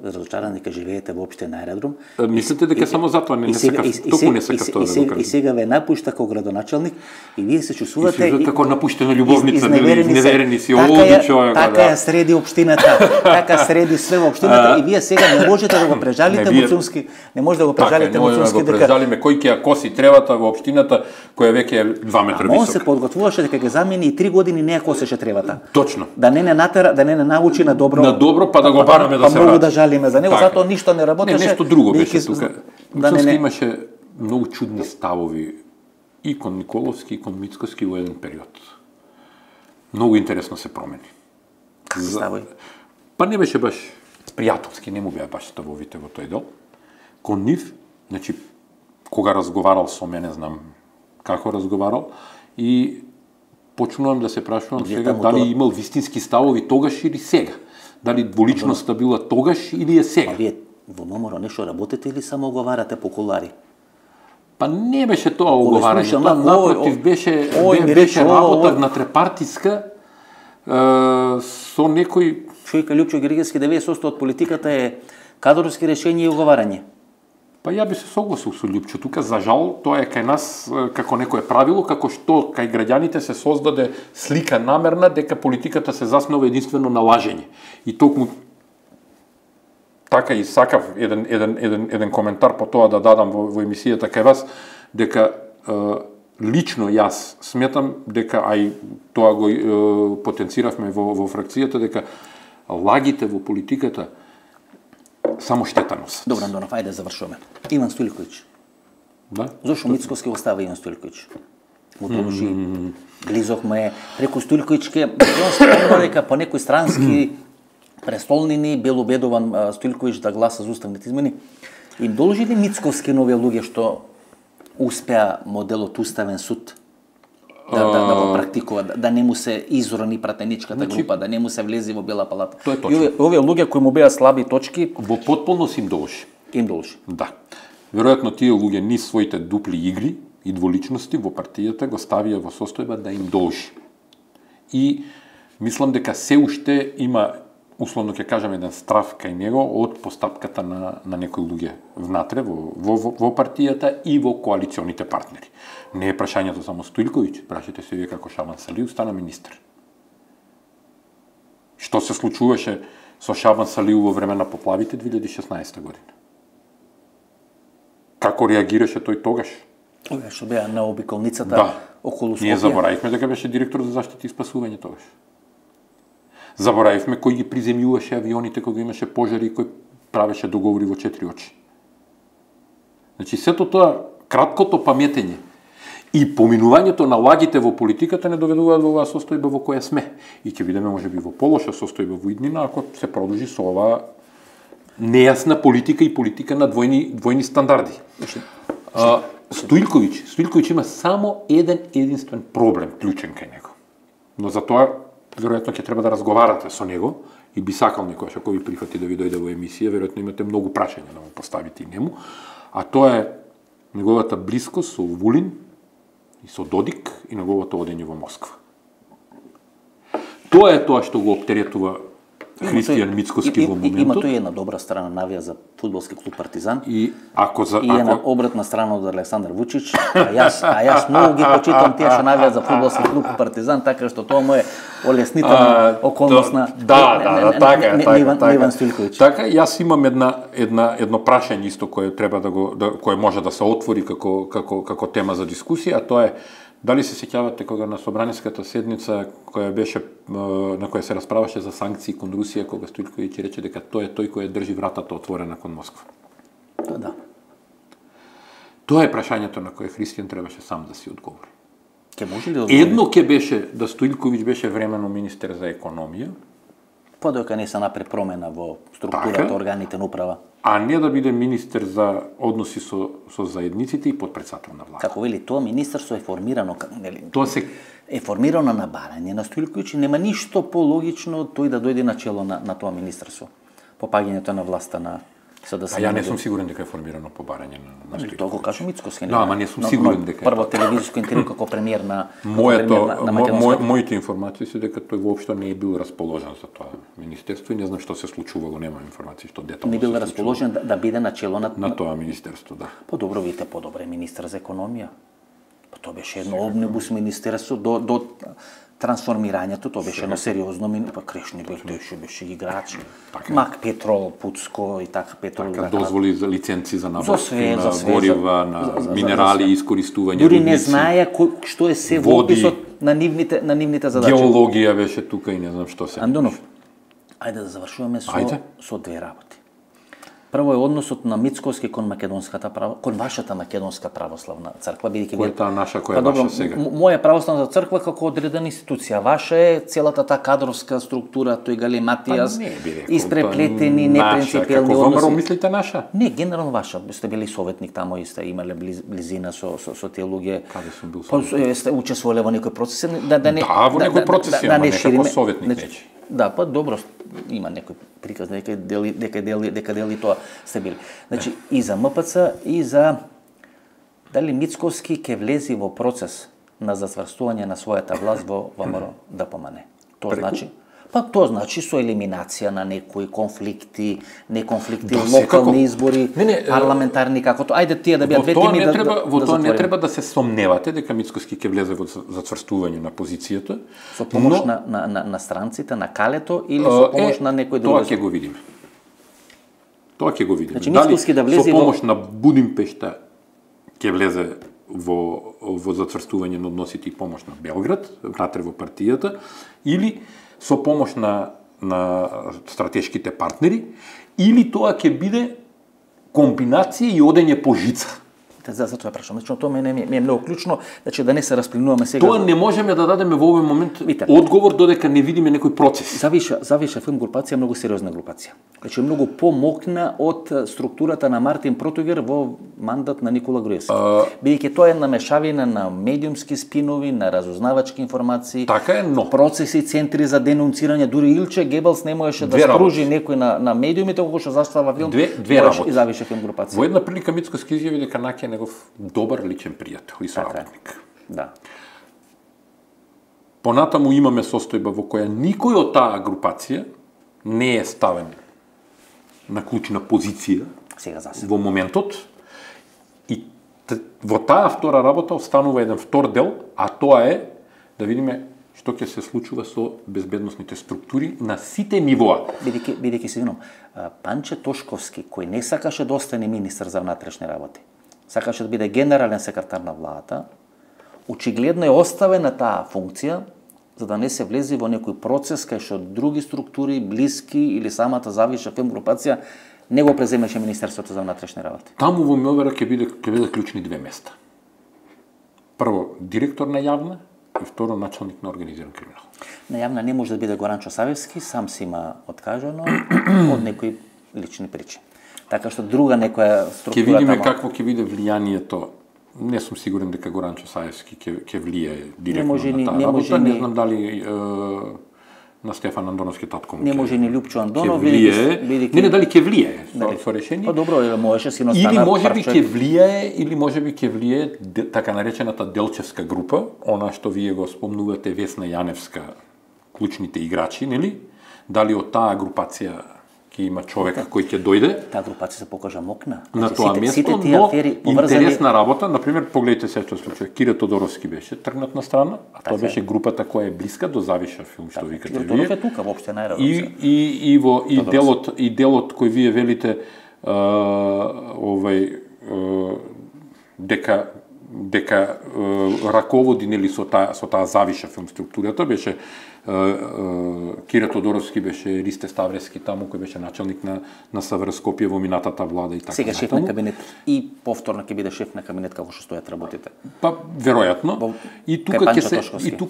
разочаран дека живеете воопште на аеродром. Мислите дека само затоа не сакав, толку не сакав тоа да го кажам. И сега ве напушта како градоначалник и вие се чувствувате како напуштена љубовница, изневерени си, човек. Така ја среди општината, така среди све во општината и вие сега не можете да го прежалите Муцунски, не може да го прежалите Муцунски дека прежалиме кој ќе ја коси тревата во општината која веќе е 2 метра висока. Он се подготвуваше дека ќе замени и 3 години не ја косеше тревата. Точно. Да не натера, да не научи на добро. На добро, па да го бараме да се врати. Многу да жалиме за него, затоа ништо не работеше. Не, нешто друго беше тука. Муцунски имаше многу чудни ставови и кон Николовски и кон Мицкоски во еден период. Многу интересно се промени. Ставови? Па не беше баш пријателски, не му беа баш ставовите во тој дел. Кон нив, значи, кога разговарал со мене, знам како разговарал, и почнувам да се прашувам сега дали имал вистински ставови тогаш или сега. Дали дволичноста била тогаш или е сега. А вие во ВМРО нешто работите или само оговарате по кулари? Па не беше тоа оговарање, тоа напротив беше работа внатрепартиска со некој... Човека Лјупчо Гергевски 90% од политиката е кадровски решења и оговарање. Па ја би се согласил со Лјупчо. Тука, за жал, тоа е кај нас како некое правило, како што кај граѓаните се создаде слика намерна дека политиката се заснова единствено на лажење. И токму така и сакав еден коментар по тоа да дадам во емисијата кај вас, дека лично јас сметам дека, а и тоа го потенциравме во фракцијата, дека лагите во политиката само штета носат. Добро, Андонов, ајде завршуваме. Иван Стојлковиќ. Да? Зошто Мицкоски го става Иван Стојлковиќ? Му должи. Глизохме преку Стојлковиќке, он спомна дека по некои странски престолнини бил убедуван Стојлковиќ да гласа за уставните измени. Им должи ли Мицковски на овие луѓе што успеа моделот уставен суд да го практикува, да не му се изрони пратеничката група, да не му се влези во Бела палата? Тоа е точно. И овие луѓе кои му беа слаби точки, во потполност им должи. Им должи. Да. Веројатно тие луѓе низ своите дупли игри и дволичности во партијата го ставија во состојба да им должи. И мислам дека се уште има, условно ќе кажам, еден страф кај него од постапката на некои луѓе внатре во партијата и во коалиционите партнери. Не е прашањето само Стојлковиќ, прашате се вие како Шабан Салиев стана министр. Што се случуваше со Шабан Салиев во време на поплавите 2016 година? Како реагираше тој тогаш? Ова што беа на обиколницата околу Скопје. Ние заборавивме дека беше директор за заштита и спасување тогаш. Заборавивме кој ги приземјуваше авионите кога имаше пожари и кој правеше договори во 4 очи. Значи, сето тоа, краткото паметење и поминувањето на лагите во политиката не доведуваат во оваа состојба во која сме. И ќе видиме можеби во полоша состојба во иднина ако се продолжи со оваа нејасна политика и политика на двојни стандарди. Стојлковиќ има само единствен проблем клучен кај него. Но за тоа веројатно ќе треба да разговарате со него и би сакал некојаш ако ви прифати да ви дојде во емисија, веројатно имате многу прашања да му поставите и нему, а тоа е неговата блискост со Вулин и со Додик и неговото одење во Москва. Тоа е тоа што го оптеретува Христијан Мицкоски во моментот. Има тој една добра страна навија за фудбалски клуб Партизан. И една обратна страна од Александар Вучич, а јас многу ги почитам тие што навија за фудбалски клуб Партизан, така што тоа му е олеснителна околност на така. Иван Стојковиќ. Така, јас имам едно прашање исто кое треба кое може да се отвори како тема за дискусија, а тоа е дали се сеќавате кога на собраниската седница која беше на која се расправаше за санкции кон Русија, кога Стојковиќ рече дека тој е тој кој држи вратата отворена кон Москва. Да. Тоа е прашањето на кое Христијан требаше сам да си одговори. Ке може ли да одговори? Едно ќе беше да Стојковиќ беше временно министер за економија, подока не се направи промена во структурата, органите на управа. А не да биде министер за односи со заедниците и потпредседател на влада. Како вели, тоа министерство е формирано, Тоа се е формирано на барање на Стојковиќ, нема ништо пологично тој да дојде на чело на тоа министерство. По паѓањето на власта на СДСМ. А ја не сум сигурен дека е формирано по барање на Стојковиќ. Тоа го кажа Мицкоски. Да, ама не сум сигурен дека. Прво телевизиско интервју како премиер на Македонската. Моите информации се дека тој воопшто не е бил расположен за тоа министерство и не знам што се случувало, нема информации што детално. Не бил расположен да биде на чело на тоа министерство, да. Подобро видите, подобро е министер за економија. Тоа беше едно омнибус министерство до трансформирањето, тоа беше едно сериозно, Крешни беше играч, Мак Петрол, Пуцко и така Петрол. Така, дозволи за лиценци за набавки на горива, на минерали, искористување. Дури не знае што е се во описот на нивните задачи. Геологија беше тука и не знам што се. Андонов, ајде да завршуваме со две работи. Прво е односот на Мицкоски кон вашата македонска православна црква, бидејќи која е таа наша, која е ваша сега? Моја православна црква како одредена институција, ваша е целата таа кадровска структура, тој галиматијас, испреплетени, непринципиелни односи. Како ВМРО мислите наша? Не, генерално ваша. Сте били советник тамо и сте имале близина со тие луѓе. Каде сум бил советник? Сте учествувале во некои процеси, Да, во некои процеси, ама не како советник нечи. Да, па добро, има некој приказ дека дели тоа сте били. Значи, и за МПЦ, и за дали Мицкоски ќе влези во процес на затврстување на својата власт во ВМРО ДПМН. Тоа значи со елиминација на некои конфликти, локални избори, парламентарни, како тоа. Ајде тие да бидат две теми Во тоа не треба да се сомневате дека Мицкоски ќе влезе во затврстување на позицијата. Со помош на странците, на Калето или со помош на некој друг? Тоа ќе го видиме. Значи, Мицкоски да влезе со помош на Будимпешта ќе влезе во затврстување на односите и помош на Белград, внатре во партијата, или со помош на стратешките партнери, или тоа ќе биде комбинација и одење по жица. Затоа ја прашам. Значи, тоа ми е многу клучно, значи да не се распленуваме сега. Тоа не можеме да дадеме во овој момент одговор додека не видиме некој процес. Завиша филм групација е многу сериозна групација. Значи многу помокна од структурата на Мартин Протогер во мандат на Никола Груевски. Бидејќи тоа е намешавина на медиумски спинови, на разузнавачки информации, така е, но процеси, центри за денунцирање, дури Илче Гебелс не можеше да скружи некој на медиумите кога што застава филм. Две работи. И завиша филм групација. Во една прилика Мицкоски изјави дека Наќ е негов добар личен пријател и соработник. Да. Понатаму имаме состојба во која никој од таа групација не е ставен на клучна позиција во моментот и во таа втора работа останува еден втор дел, а тоа е да видиме што ќе се случува со безбедносните структури на сите нивоа. Бидејќи се винам, Панче Тошковски, кој не сакаше да остане министер за внатрешни работи, сакаше да биде генерален секретар на владата, очигледно е оставен на таа функција, за да не се влези во некој процес кај што други структури, блиски или самата завиша филм групација не го преземеше Министерството за внатрешни работи. Таму во МВР ќе биде клучни две места. Прво, директор на јавна и второ, началник на организиран криминал. На јавна не може да биде Горанчо Савевски, сам си има откажано од некои лични причини. Така што друга некоја структура ќе видиме какво ќе биде влијанието. Не сум сигурен дека Горанчо Саевски ќе влие директно на таа работа. Не знам дали на Стефан Андоновски татко му. Не може ни Лјупчо Андонов Не дали ќе влие со решение. Па добро, можеше си или можеби ќе влие, или можеби ќе влие така наречената Делчевска група, она што вие го спомнувате, Весна Јаневска, клучните играчи, нели? дали од таа групација ќе има човек кој ќе дојде. Таа групација се покажа мокна. На тоа место, но интересна работа, например, погледнете се што случи. Кире Тодоровски беше тргнат на страна, а тоа беше групата која е блиска до Завиша филм, што викате вие. Тодоров е тука воопште најрадо. И делот кој вие велите дека раководи нели со таа Завиша филм структурата беше Кире Тодоровски, беше Ристе Ставрески таму кој беше начелник на СВР Скопје во минатата влада и така. Сега шеф на кабинет и повторно ќе биде шеф на кабинет како што стојат работите. Па веројатно. И тука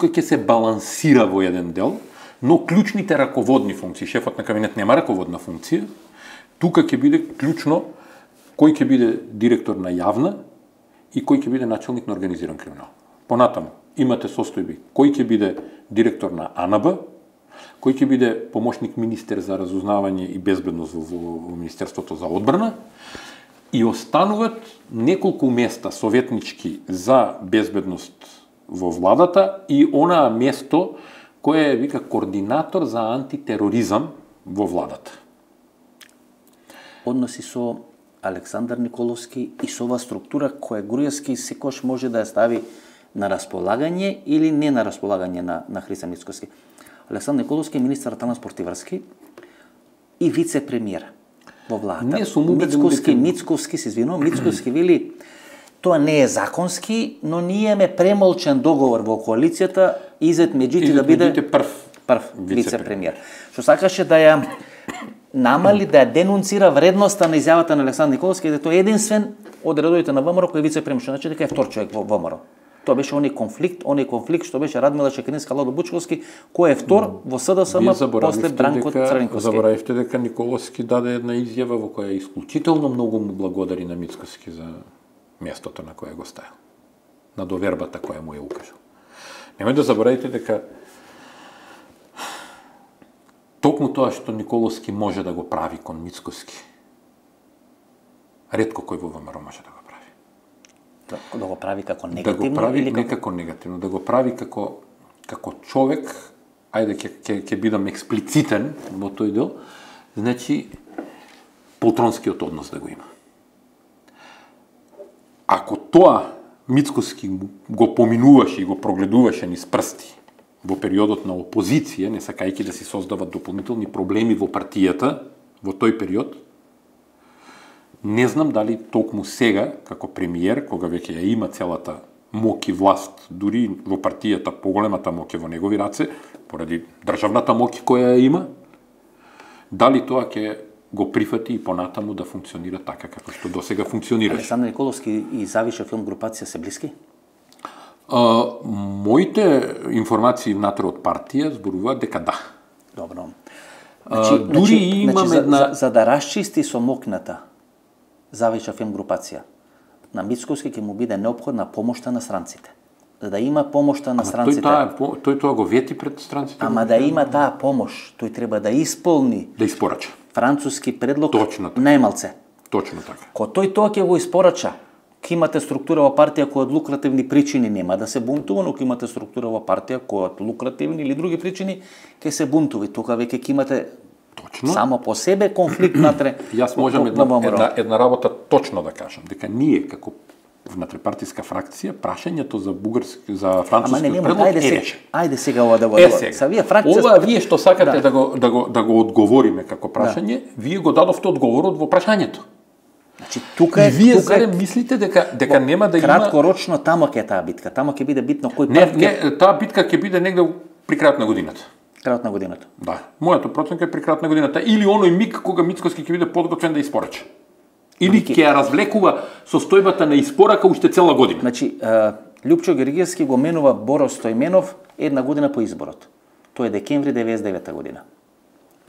ќе се балансира во еден дел, но клучните раководни функции, шефот на кабинет нема раководна функција. Тука ќе биде клучно кој ќе биде директор на јавна и кој ќе биде начелник на организиран криминал. Понатаму имате состојби кој ќе биде директор на АНБ, кој ќе биде помошник министер за разузнавање и безбедност во Министерството за одбрана, и остануваат неколку места советнички за безбедност во владата и онаа место кое вика координатор за антитероризам во владата. Односи со Александар Николовски и со оваа структура која Груевски секош може да ја стави на располагање или не на располагање на Христо Мицкоски. Александар Николовски е министар транспорт и врски и вице-премиер во владата. Мицковски се извинувам, Мицковски вели тоа не е законски, но ние ме премолчен договор во коалицијата Изет Меджити да биде прв вице-премиер. Што сакаше да ја намали, да ја денунцира вредноста на изјавата на Александар Николовски, дека тој е единствен од редовите на ВМРО кој е вице-премиер, што значи дека е втор човек во ВМРО. Тоа беше оној конфликт што беше Радмила Чекринска, Ладо Бучковски, кој е втор во СДСМ после Бранко Црвенковски. Заборавивте дека Николовски даде една изјава во која исклучително многу му благодари на Мицкоски за местото на кое го ставил, на довербата која му ја укажал. Немој да заборавите дека токму тоа што Николовски може да го прави кон Мицкоски, ретко кој во ВМРО може да го прави. Да го прави како негативно? Да го прави не како негативно, да го прави како човек, ајде ќе бидам експлицитен во тој дел, значи полтронскиот однос да го има. Ако тоа Мицкоски го поминуваше и го прогледуваше низ прсти во периодот на опозиција, не сакајќи да си создават дополнителни проблеми во партијата во тој период, не знам дали токму сега, како премиер, кога веќе ја има целата мок и власт, дури во партијата поголемата мок е во негови раце, поради државната мок која ја има, дали тоа ќе го прифати и понатаму да функционира така како што досега функционираше. Александар Николовски и Завиша филм групација се блиски? Моите информации внатре од партија зборуваат дека да. Добро. Дури имаме една... За да расчисти со мокната Завиша филм групација, на Мицковски ќе му биде неопходна помошта на странците. За да има помошта на странците. Тој тоа го вети пред странците. Ама да има таа помош, тој треба да исполни. Да испорача. Француски предлог така. најмалце. Точно така. Ко тој тоа ќе го испорача, ќе имате структура во партија која од лукративни причини нема да се бунтува, но ќе имате структура во партија која од лукративни или други причини ќе се бунтува. Тука веќе ќе имате точно само по себе конфликт натре. Јас можам една работа точно да кажам, дека ние како внатрепартиска фракција прашањето за францускиот предлог е решено. Ајде сега ова да го Ова вие што сакате да го одговориме како прашање, вие го дадовте одговорот во прашањето. Значи тука и вие зарем мислите дека нема да има краткорочно тамо ќе таа битка, тамо ќе биде битно кој прв Не, таа битка ќе биде негде при крајот на годината. Крајот на годината. Да, мојата проценка е при крајот на годината или оној миг кога Мицкоски ќе биде подготвен да испорача. Или ќе ја развлекува состојбата на испорака уште цела година. Значи, Љупчо Гергиевски го менува Боро Стојменов една година по изборот. Тоа е декември 99 година.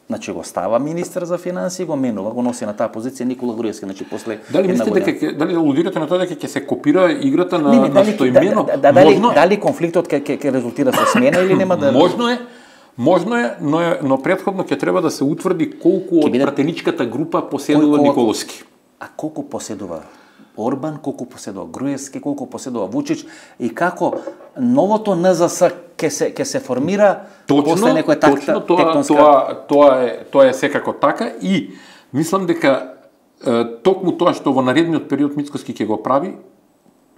Значи го става министер за финансии, го менува, го носи на таа позиција Никола Груевски, значи после дали мислите дали алудирате на тоа дека ќе се копира играта на Стојменов? Дали конфликтот ќе резултира со смена или нема да Можно е, но претходно ќе треба да се утврди колку од пратеничката група поседува Николовски. А колку поседува Орбан, колку поседува Груевски, колку поседува Вучич и како новото НЗС ќе се формира после некоја тектонска... Тоа е секако така и мислам дека токму тоа што во наредниот период Мицкоски ќе го прави,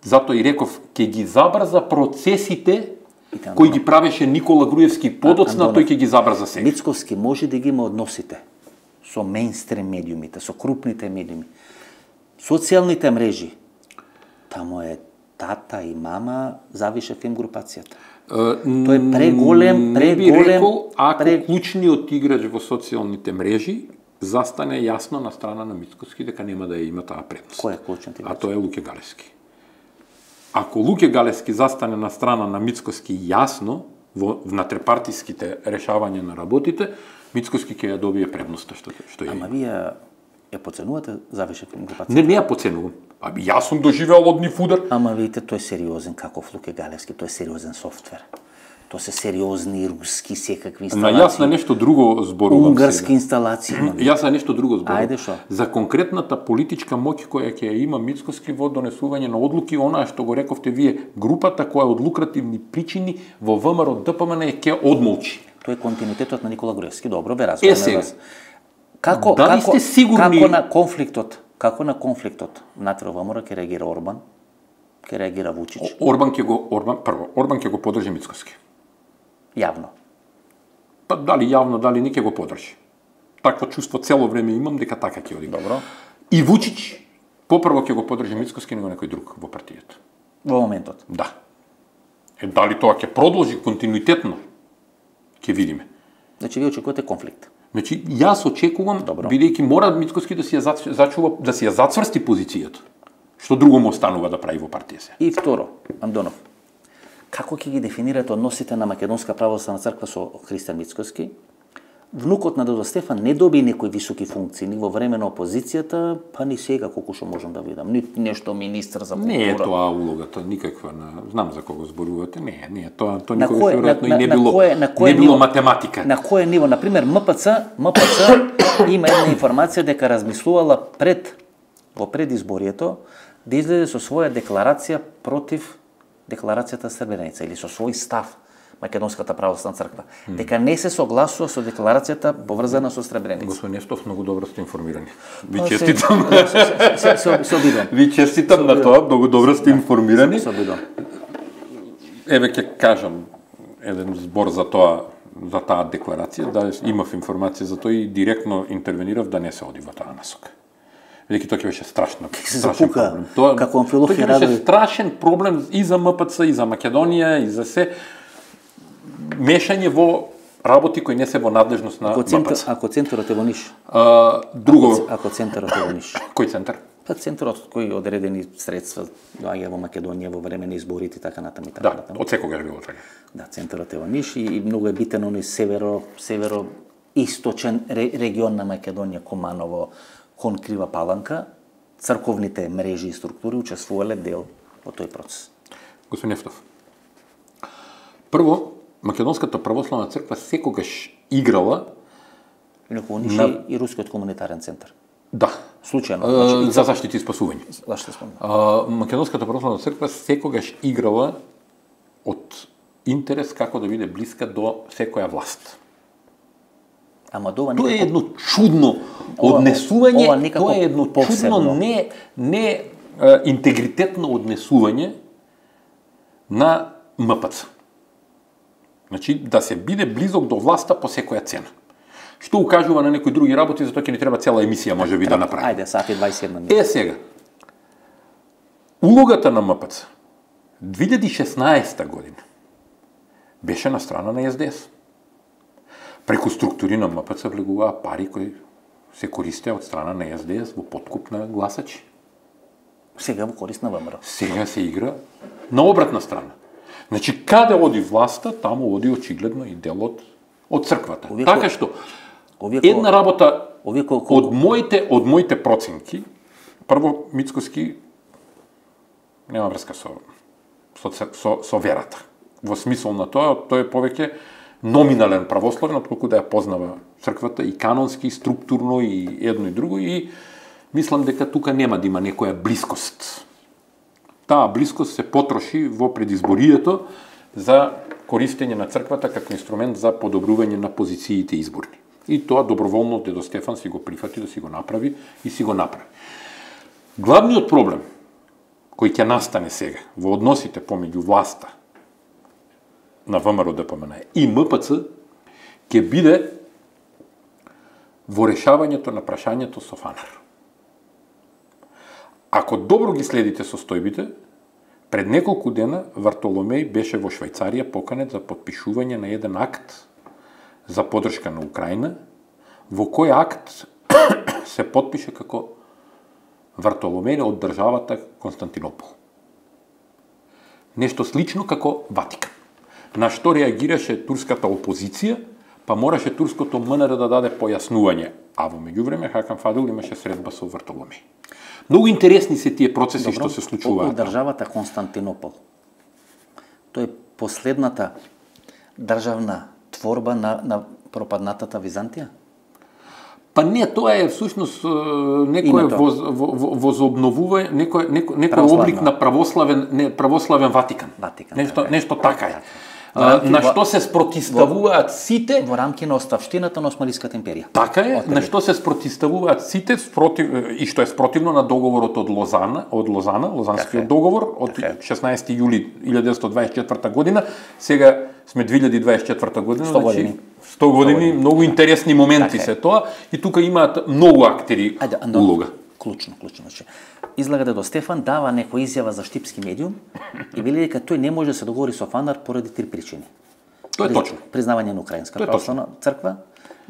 затоа и реков ќе ги забрза процесите кои ги правеше Никола Груевски подоцна, тој ќе ги забрза сега. Мицкоски може да ги има односите со мејнстрим медиумите, со крупните медиуми. Социјалните мрежи, тамо е тата и мама завише филм групацијата. Тој е преголем. Не би рекол, ако клучниот играч во социјалните мрежи застане јасно на страна на Мицкоски дека нема да ја има таа предност. Кој е клучниот играч? А тоа е Луке Галевски. Ако Луке Галевски застане на страна на Мицкоски јасно во натрепартиските решавања на работите, Мицкоски ќе ја добие предноста што е. Ама вие ја поценувате завише филм групацијата? Не ја поценувам. Јас сум доживеал од нив удар. Ама видите, тој е сериозен каков Луке Галевски, тој е сериозен софтвер. Тоа се сериозни руски секакви инсталации. Јас на нешто друго зборувам. Унгарски инсталации. Јас на нешто друго зборувам. Ајде шо? За конкретната политичка моќ која ќе има Мицкоски во донесување на одлуки, онаа што го рековте вие, групата која од лукративни причини во ВМРО ДПМН ќе одмолчи. Тоа е континуитетот на Никола Груевски. Добро, бе, разбираме вас. Како на конфликтот внатре ВМРО ќе реагира Орбан? Ќе реагира Вучич? Орбан ќе го подржи Мицкоски. Јавно. Па дали јавно, дали не ќе го подржи. Такво чувство цело време имам дека така ќе оди. Добро. И Вучич попрво ќе го подржи Мицкоски него некој друг во партијата. Во моментот. Да. Дали тоа ќе продолжи континуитетно? Ќе видиме. Значи вие очекувате конфликт. Значи јас очекувам, бидејќи мора Мицкоски да си ја зачува, да си ја зацврсти позицијата. Што друго му останува да прави во партија? И второ, Андонов, како ќе ги дефинирате односите на Македонска православна црква со Христијан Мицкоски? Внукот на Додо Стефан не доби некои високи функции ни во време на опозицијата, па ни сега колку што можам да видам. Ни нешто министр за култура. Не е тоа улогата никаква знам за кого зборувате. Не, тоа никогаш веројатно и не било математика. На кое ниво? На пример, МПЦ има една информација дека размислувала во предизборието да излезе со своја декларација против декларацијата Сребреница или со свој став Македонската православна црква, дека не се согласува со декларацијата поврзана со Сребреница. Господин Нестов, многу добро сте информирани. Ви честитам. Се обидувам. Ви честитам на тоа, многу добро сте информирани. Се обидувам. Еве ќе кажам еден збор за тоа, за таа декларација, да имав информација за тоа и директно интервенирав да не се оди во таа насока. Ведејќи тоа ќе беше страшен проблем. Тоа ќе беше страшен проблем и за МПЦ, и за Македонија, и за се мешање во работи кои не се во надлежност на МПЦ. Ако центарот е во Ниш? Друго. Ако центарот е во Ниш? Кој центар? Па центарот кој одредени средства доаѓа во Македонија во време на изборите и така натаму. Да, од секогаш било така. Да, центарот е во Ниш и многу е битен оној северо-источен регион на Македонија, Команово, кон Крива Паланка. Црковните мрежи и структури учествувале дел во тој процес. Господин Нефтов, прво, Македонската православна црква секогаш играла и Рускиот комунитарен центар. Да. Случајно. За заштита и спасување. Македонската православна црква секогаш играла од интерес како да биде блиска до секоја власт. Ама тоа е едно чудно однесување, тоа е едно чудно не интегритетно однесување на МПЦ. Значи, да се биде близок до власта по секоја цена. Што укажува на некои други работи, затоа ќе ни треба цела емисија, може би, да направи. Ајде, сати 21 минути. Сега, улогата на МПЦ 2016 година беше на страна на СДС. Преку структури на МПЦ влегуваа пари кои се користеа од страна на СДС во подкуп на гласачи. Сега во корист на ВМРО. Сега се игра на обратна страна. Значи, каде оди власта, таму оди очигледно и дел од црквата. Така што, една работа од моите проценки, прво, Мицкоски нема врска со верата. Во смисол на тоа, тој е повеќе номинален православен, отколку да ја познава црквата и канонски, и структурно, и едно и друго, и мислам дека тука нема да има некоја блискост. Таа блискост се потроши во предизборието за користење на црквата како инструмент за подобрување на позициите изборни. И тоа доброволно дедо Стефан си го прифати да си го направи и си го направи. Главниот проблем кој ќе настане сега во односите помеѓу власта на ВМРО-ДПМН и МПЦ ќе биде во решавањето на прашањето со фанар. Ако добро ги следите состојбите, пред неколку дена Вартоломеј беше во Швајцарија поканет за подпишување на еден акт за поддршка на Украина, во кој акт се подпише како Вартоломеј од државата Константинопол. Нешто слично како Ватикан. На што реагираше турската опозиција, па мораше турското МНР да даде појаснување, а во меѓувреме Хакан Фадил имаше средба со Вартоломеј. Многу интересни се тие процеси што се случуваат. Државата Константинопол. Тоа е последната државна творба на пропаднатата Византија? Па не, тоа е всушност некој возобновување, некој облик на православен Ватикан. Нешто така е. На што се спротивставуваат сите во рамки на оставштината на Османската империја. Така е, на што се спротивставуваат сите и што е спротивно на договорот од Лозана, Лозанскиот договор од 16 јули 1924 година. Сега сме 2024 година, 100 години, многу интересни моменти се тоа и тука имаат многу актери улога. Клучно. Значи, излага дедо Стефан дава некоја изјава за штипски медиум и вели дека тој не може да се договори со фанар поради три причини. Тоа е точно. Признавање на Украинска православна црква,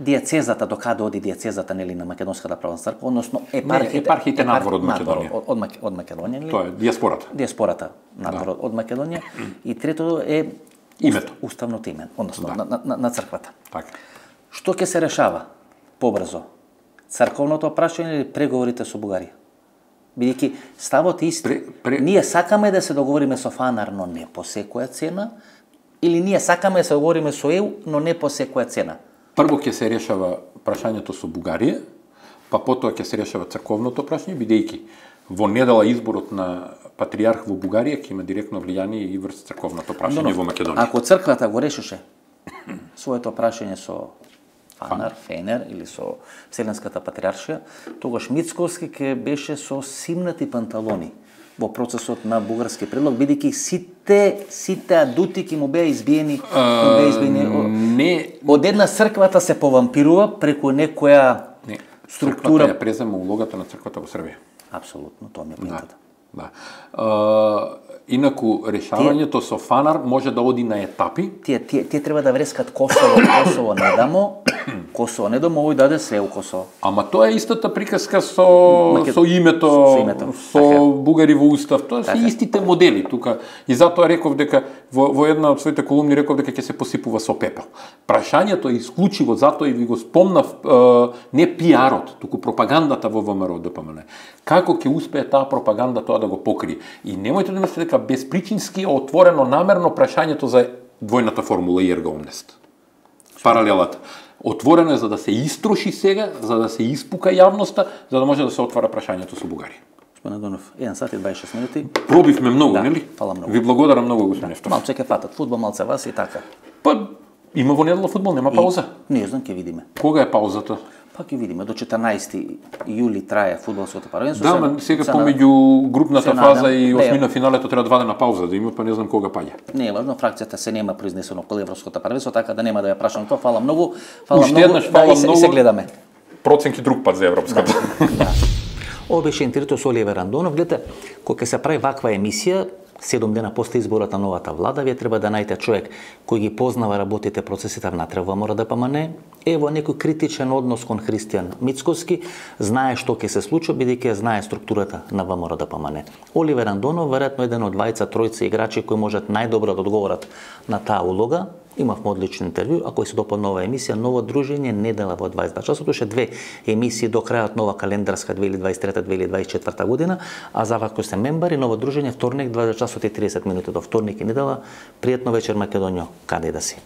дијацезата, докаде оди дијацезата нели на Македонската православна црква, односно епархиите надвор од Македонија. Од Македонија, нели? Тоа е дијаспората. Дијаспората надвор од Македонија и трето е името, уставното име, односно на црквата. Така. Што ќе се решава побрзо? Црковното прашање или преговорите со Бугарија? Бидејќи ставот е ист. Ние сакаме да се договориме со фанар, но не по секоја цена, или ние сакаме да се договориме со ЕУ, но не по секоја цена. Прво ќе се решава прашањето со Бугарија, па потоа ќе се решава црковното прашање, бидејќи во недела изборот на патриарх во Бугарија ќе има директно влијание и врз црковното прашање во Македонија. Ако црквата го решеше своето прашање со фанар, фенер или со Вселенската патриаршија, тогаш Мицковски ќе беше со симнати панталони во процесот на бугарски предлог, бидејќи сите адути ќе му беа избиени, од една црквата се повампирува преку некоја структура. Црквата ја презема улогата на црквата во Србија. Апсолутно, тоа ми е поинтата. Да. Инаку решавањето со фанар може да оди на етапи. Тие треба да врескат Косово не дамо, овој даде се у Косово. Ама тоа е истата приказка со името, со бугари во устав, тоа се истите модели тука. И затоа реков дека во една од своите колумни реков дека ќе се посипува со пепел. Прашањето е исклучиво, затоа и ви го спомнав, не пиарот, туку пропагандата во ВМРО-ДПМН. Како ќе успее таа пропаганда тоа да го покрие? И немојте да мислите дека безпричински е отворено намерно прашањето за двојната формула и ерга омнест. Паралелата. Отворено е за да се истроши сега, за да се испука јавноста, за да може да се отвара прашањето со Бугарија. Господин Донов, 1 сат и 26 минути. Пробивме многу, нели? Фала многу. Ви благодарам многу, господин Ефтов. Малце ќе фатат фудбал, малце вас и така. Па, има во недела фудбал, нема пауза? Не знам, ќе видиме. Кога е паузата? Па ќе видиме, до 14 јули трае фудбалското парвенство. Да, ма сега помеѓу групната фаза и осмина финалето треба 2 дена пауза да има, па не знам кога паѓа. Не е важно, фракцијата се нема произнесено по европското парвенство, така да нема да ја прашам тоа. Фала многу. И се гледаме. Проценки друг пат за европската. Ова беше интервјуто со Оливер Андонов. Гледате, кога се прави ваква емисија, 7 дена после изборот на новата влада, вие треба да најдете човек кој ги познава работите, процесите внатре во ВМРО-ДПМН, е во некој критичен однос кон Христијан Мицковски, знае што ќе се случи, бидејќи знае структурата на ВМРО-ДПМН. Оливер Андонов, веројатно еден од двајца-тројца играчи кои можат најдобро да одговорат на таа улога. Имавме одлично интервју, ако се допадна нова емисија, ново дружење, недела во 22 часот, уште 2 емисии до крајот нова календарска 2023-2024 година, а за вако се мембари, ново дружење вторник 20 часот и 30 минути до вторник и недела. Пријатно вечер Македонија, каде да си.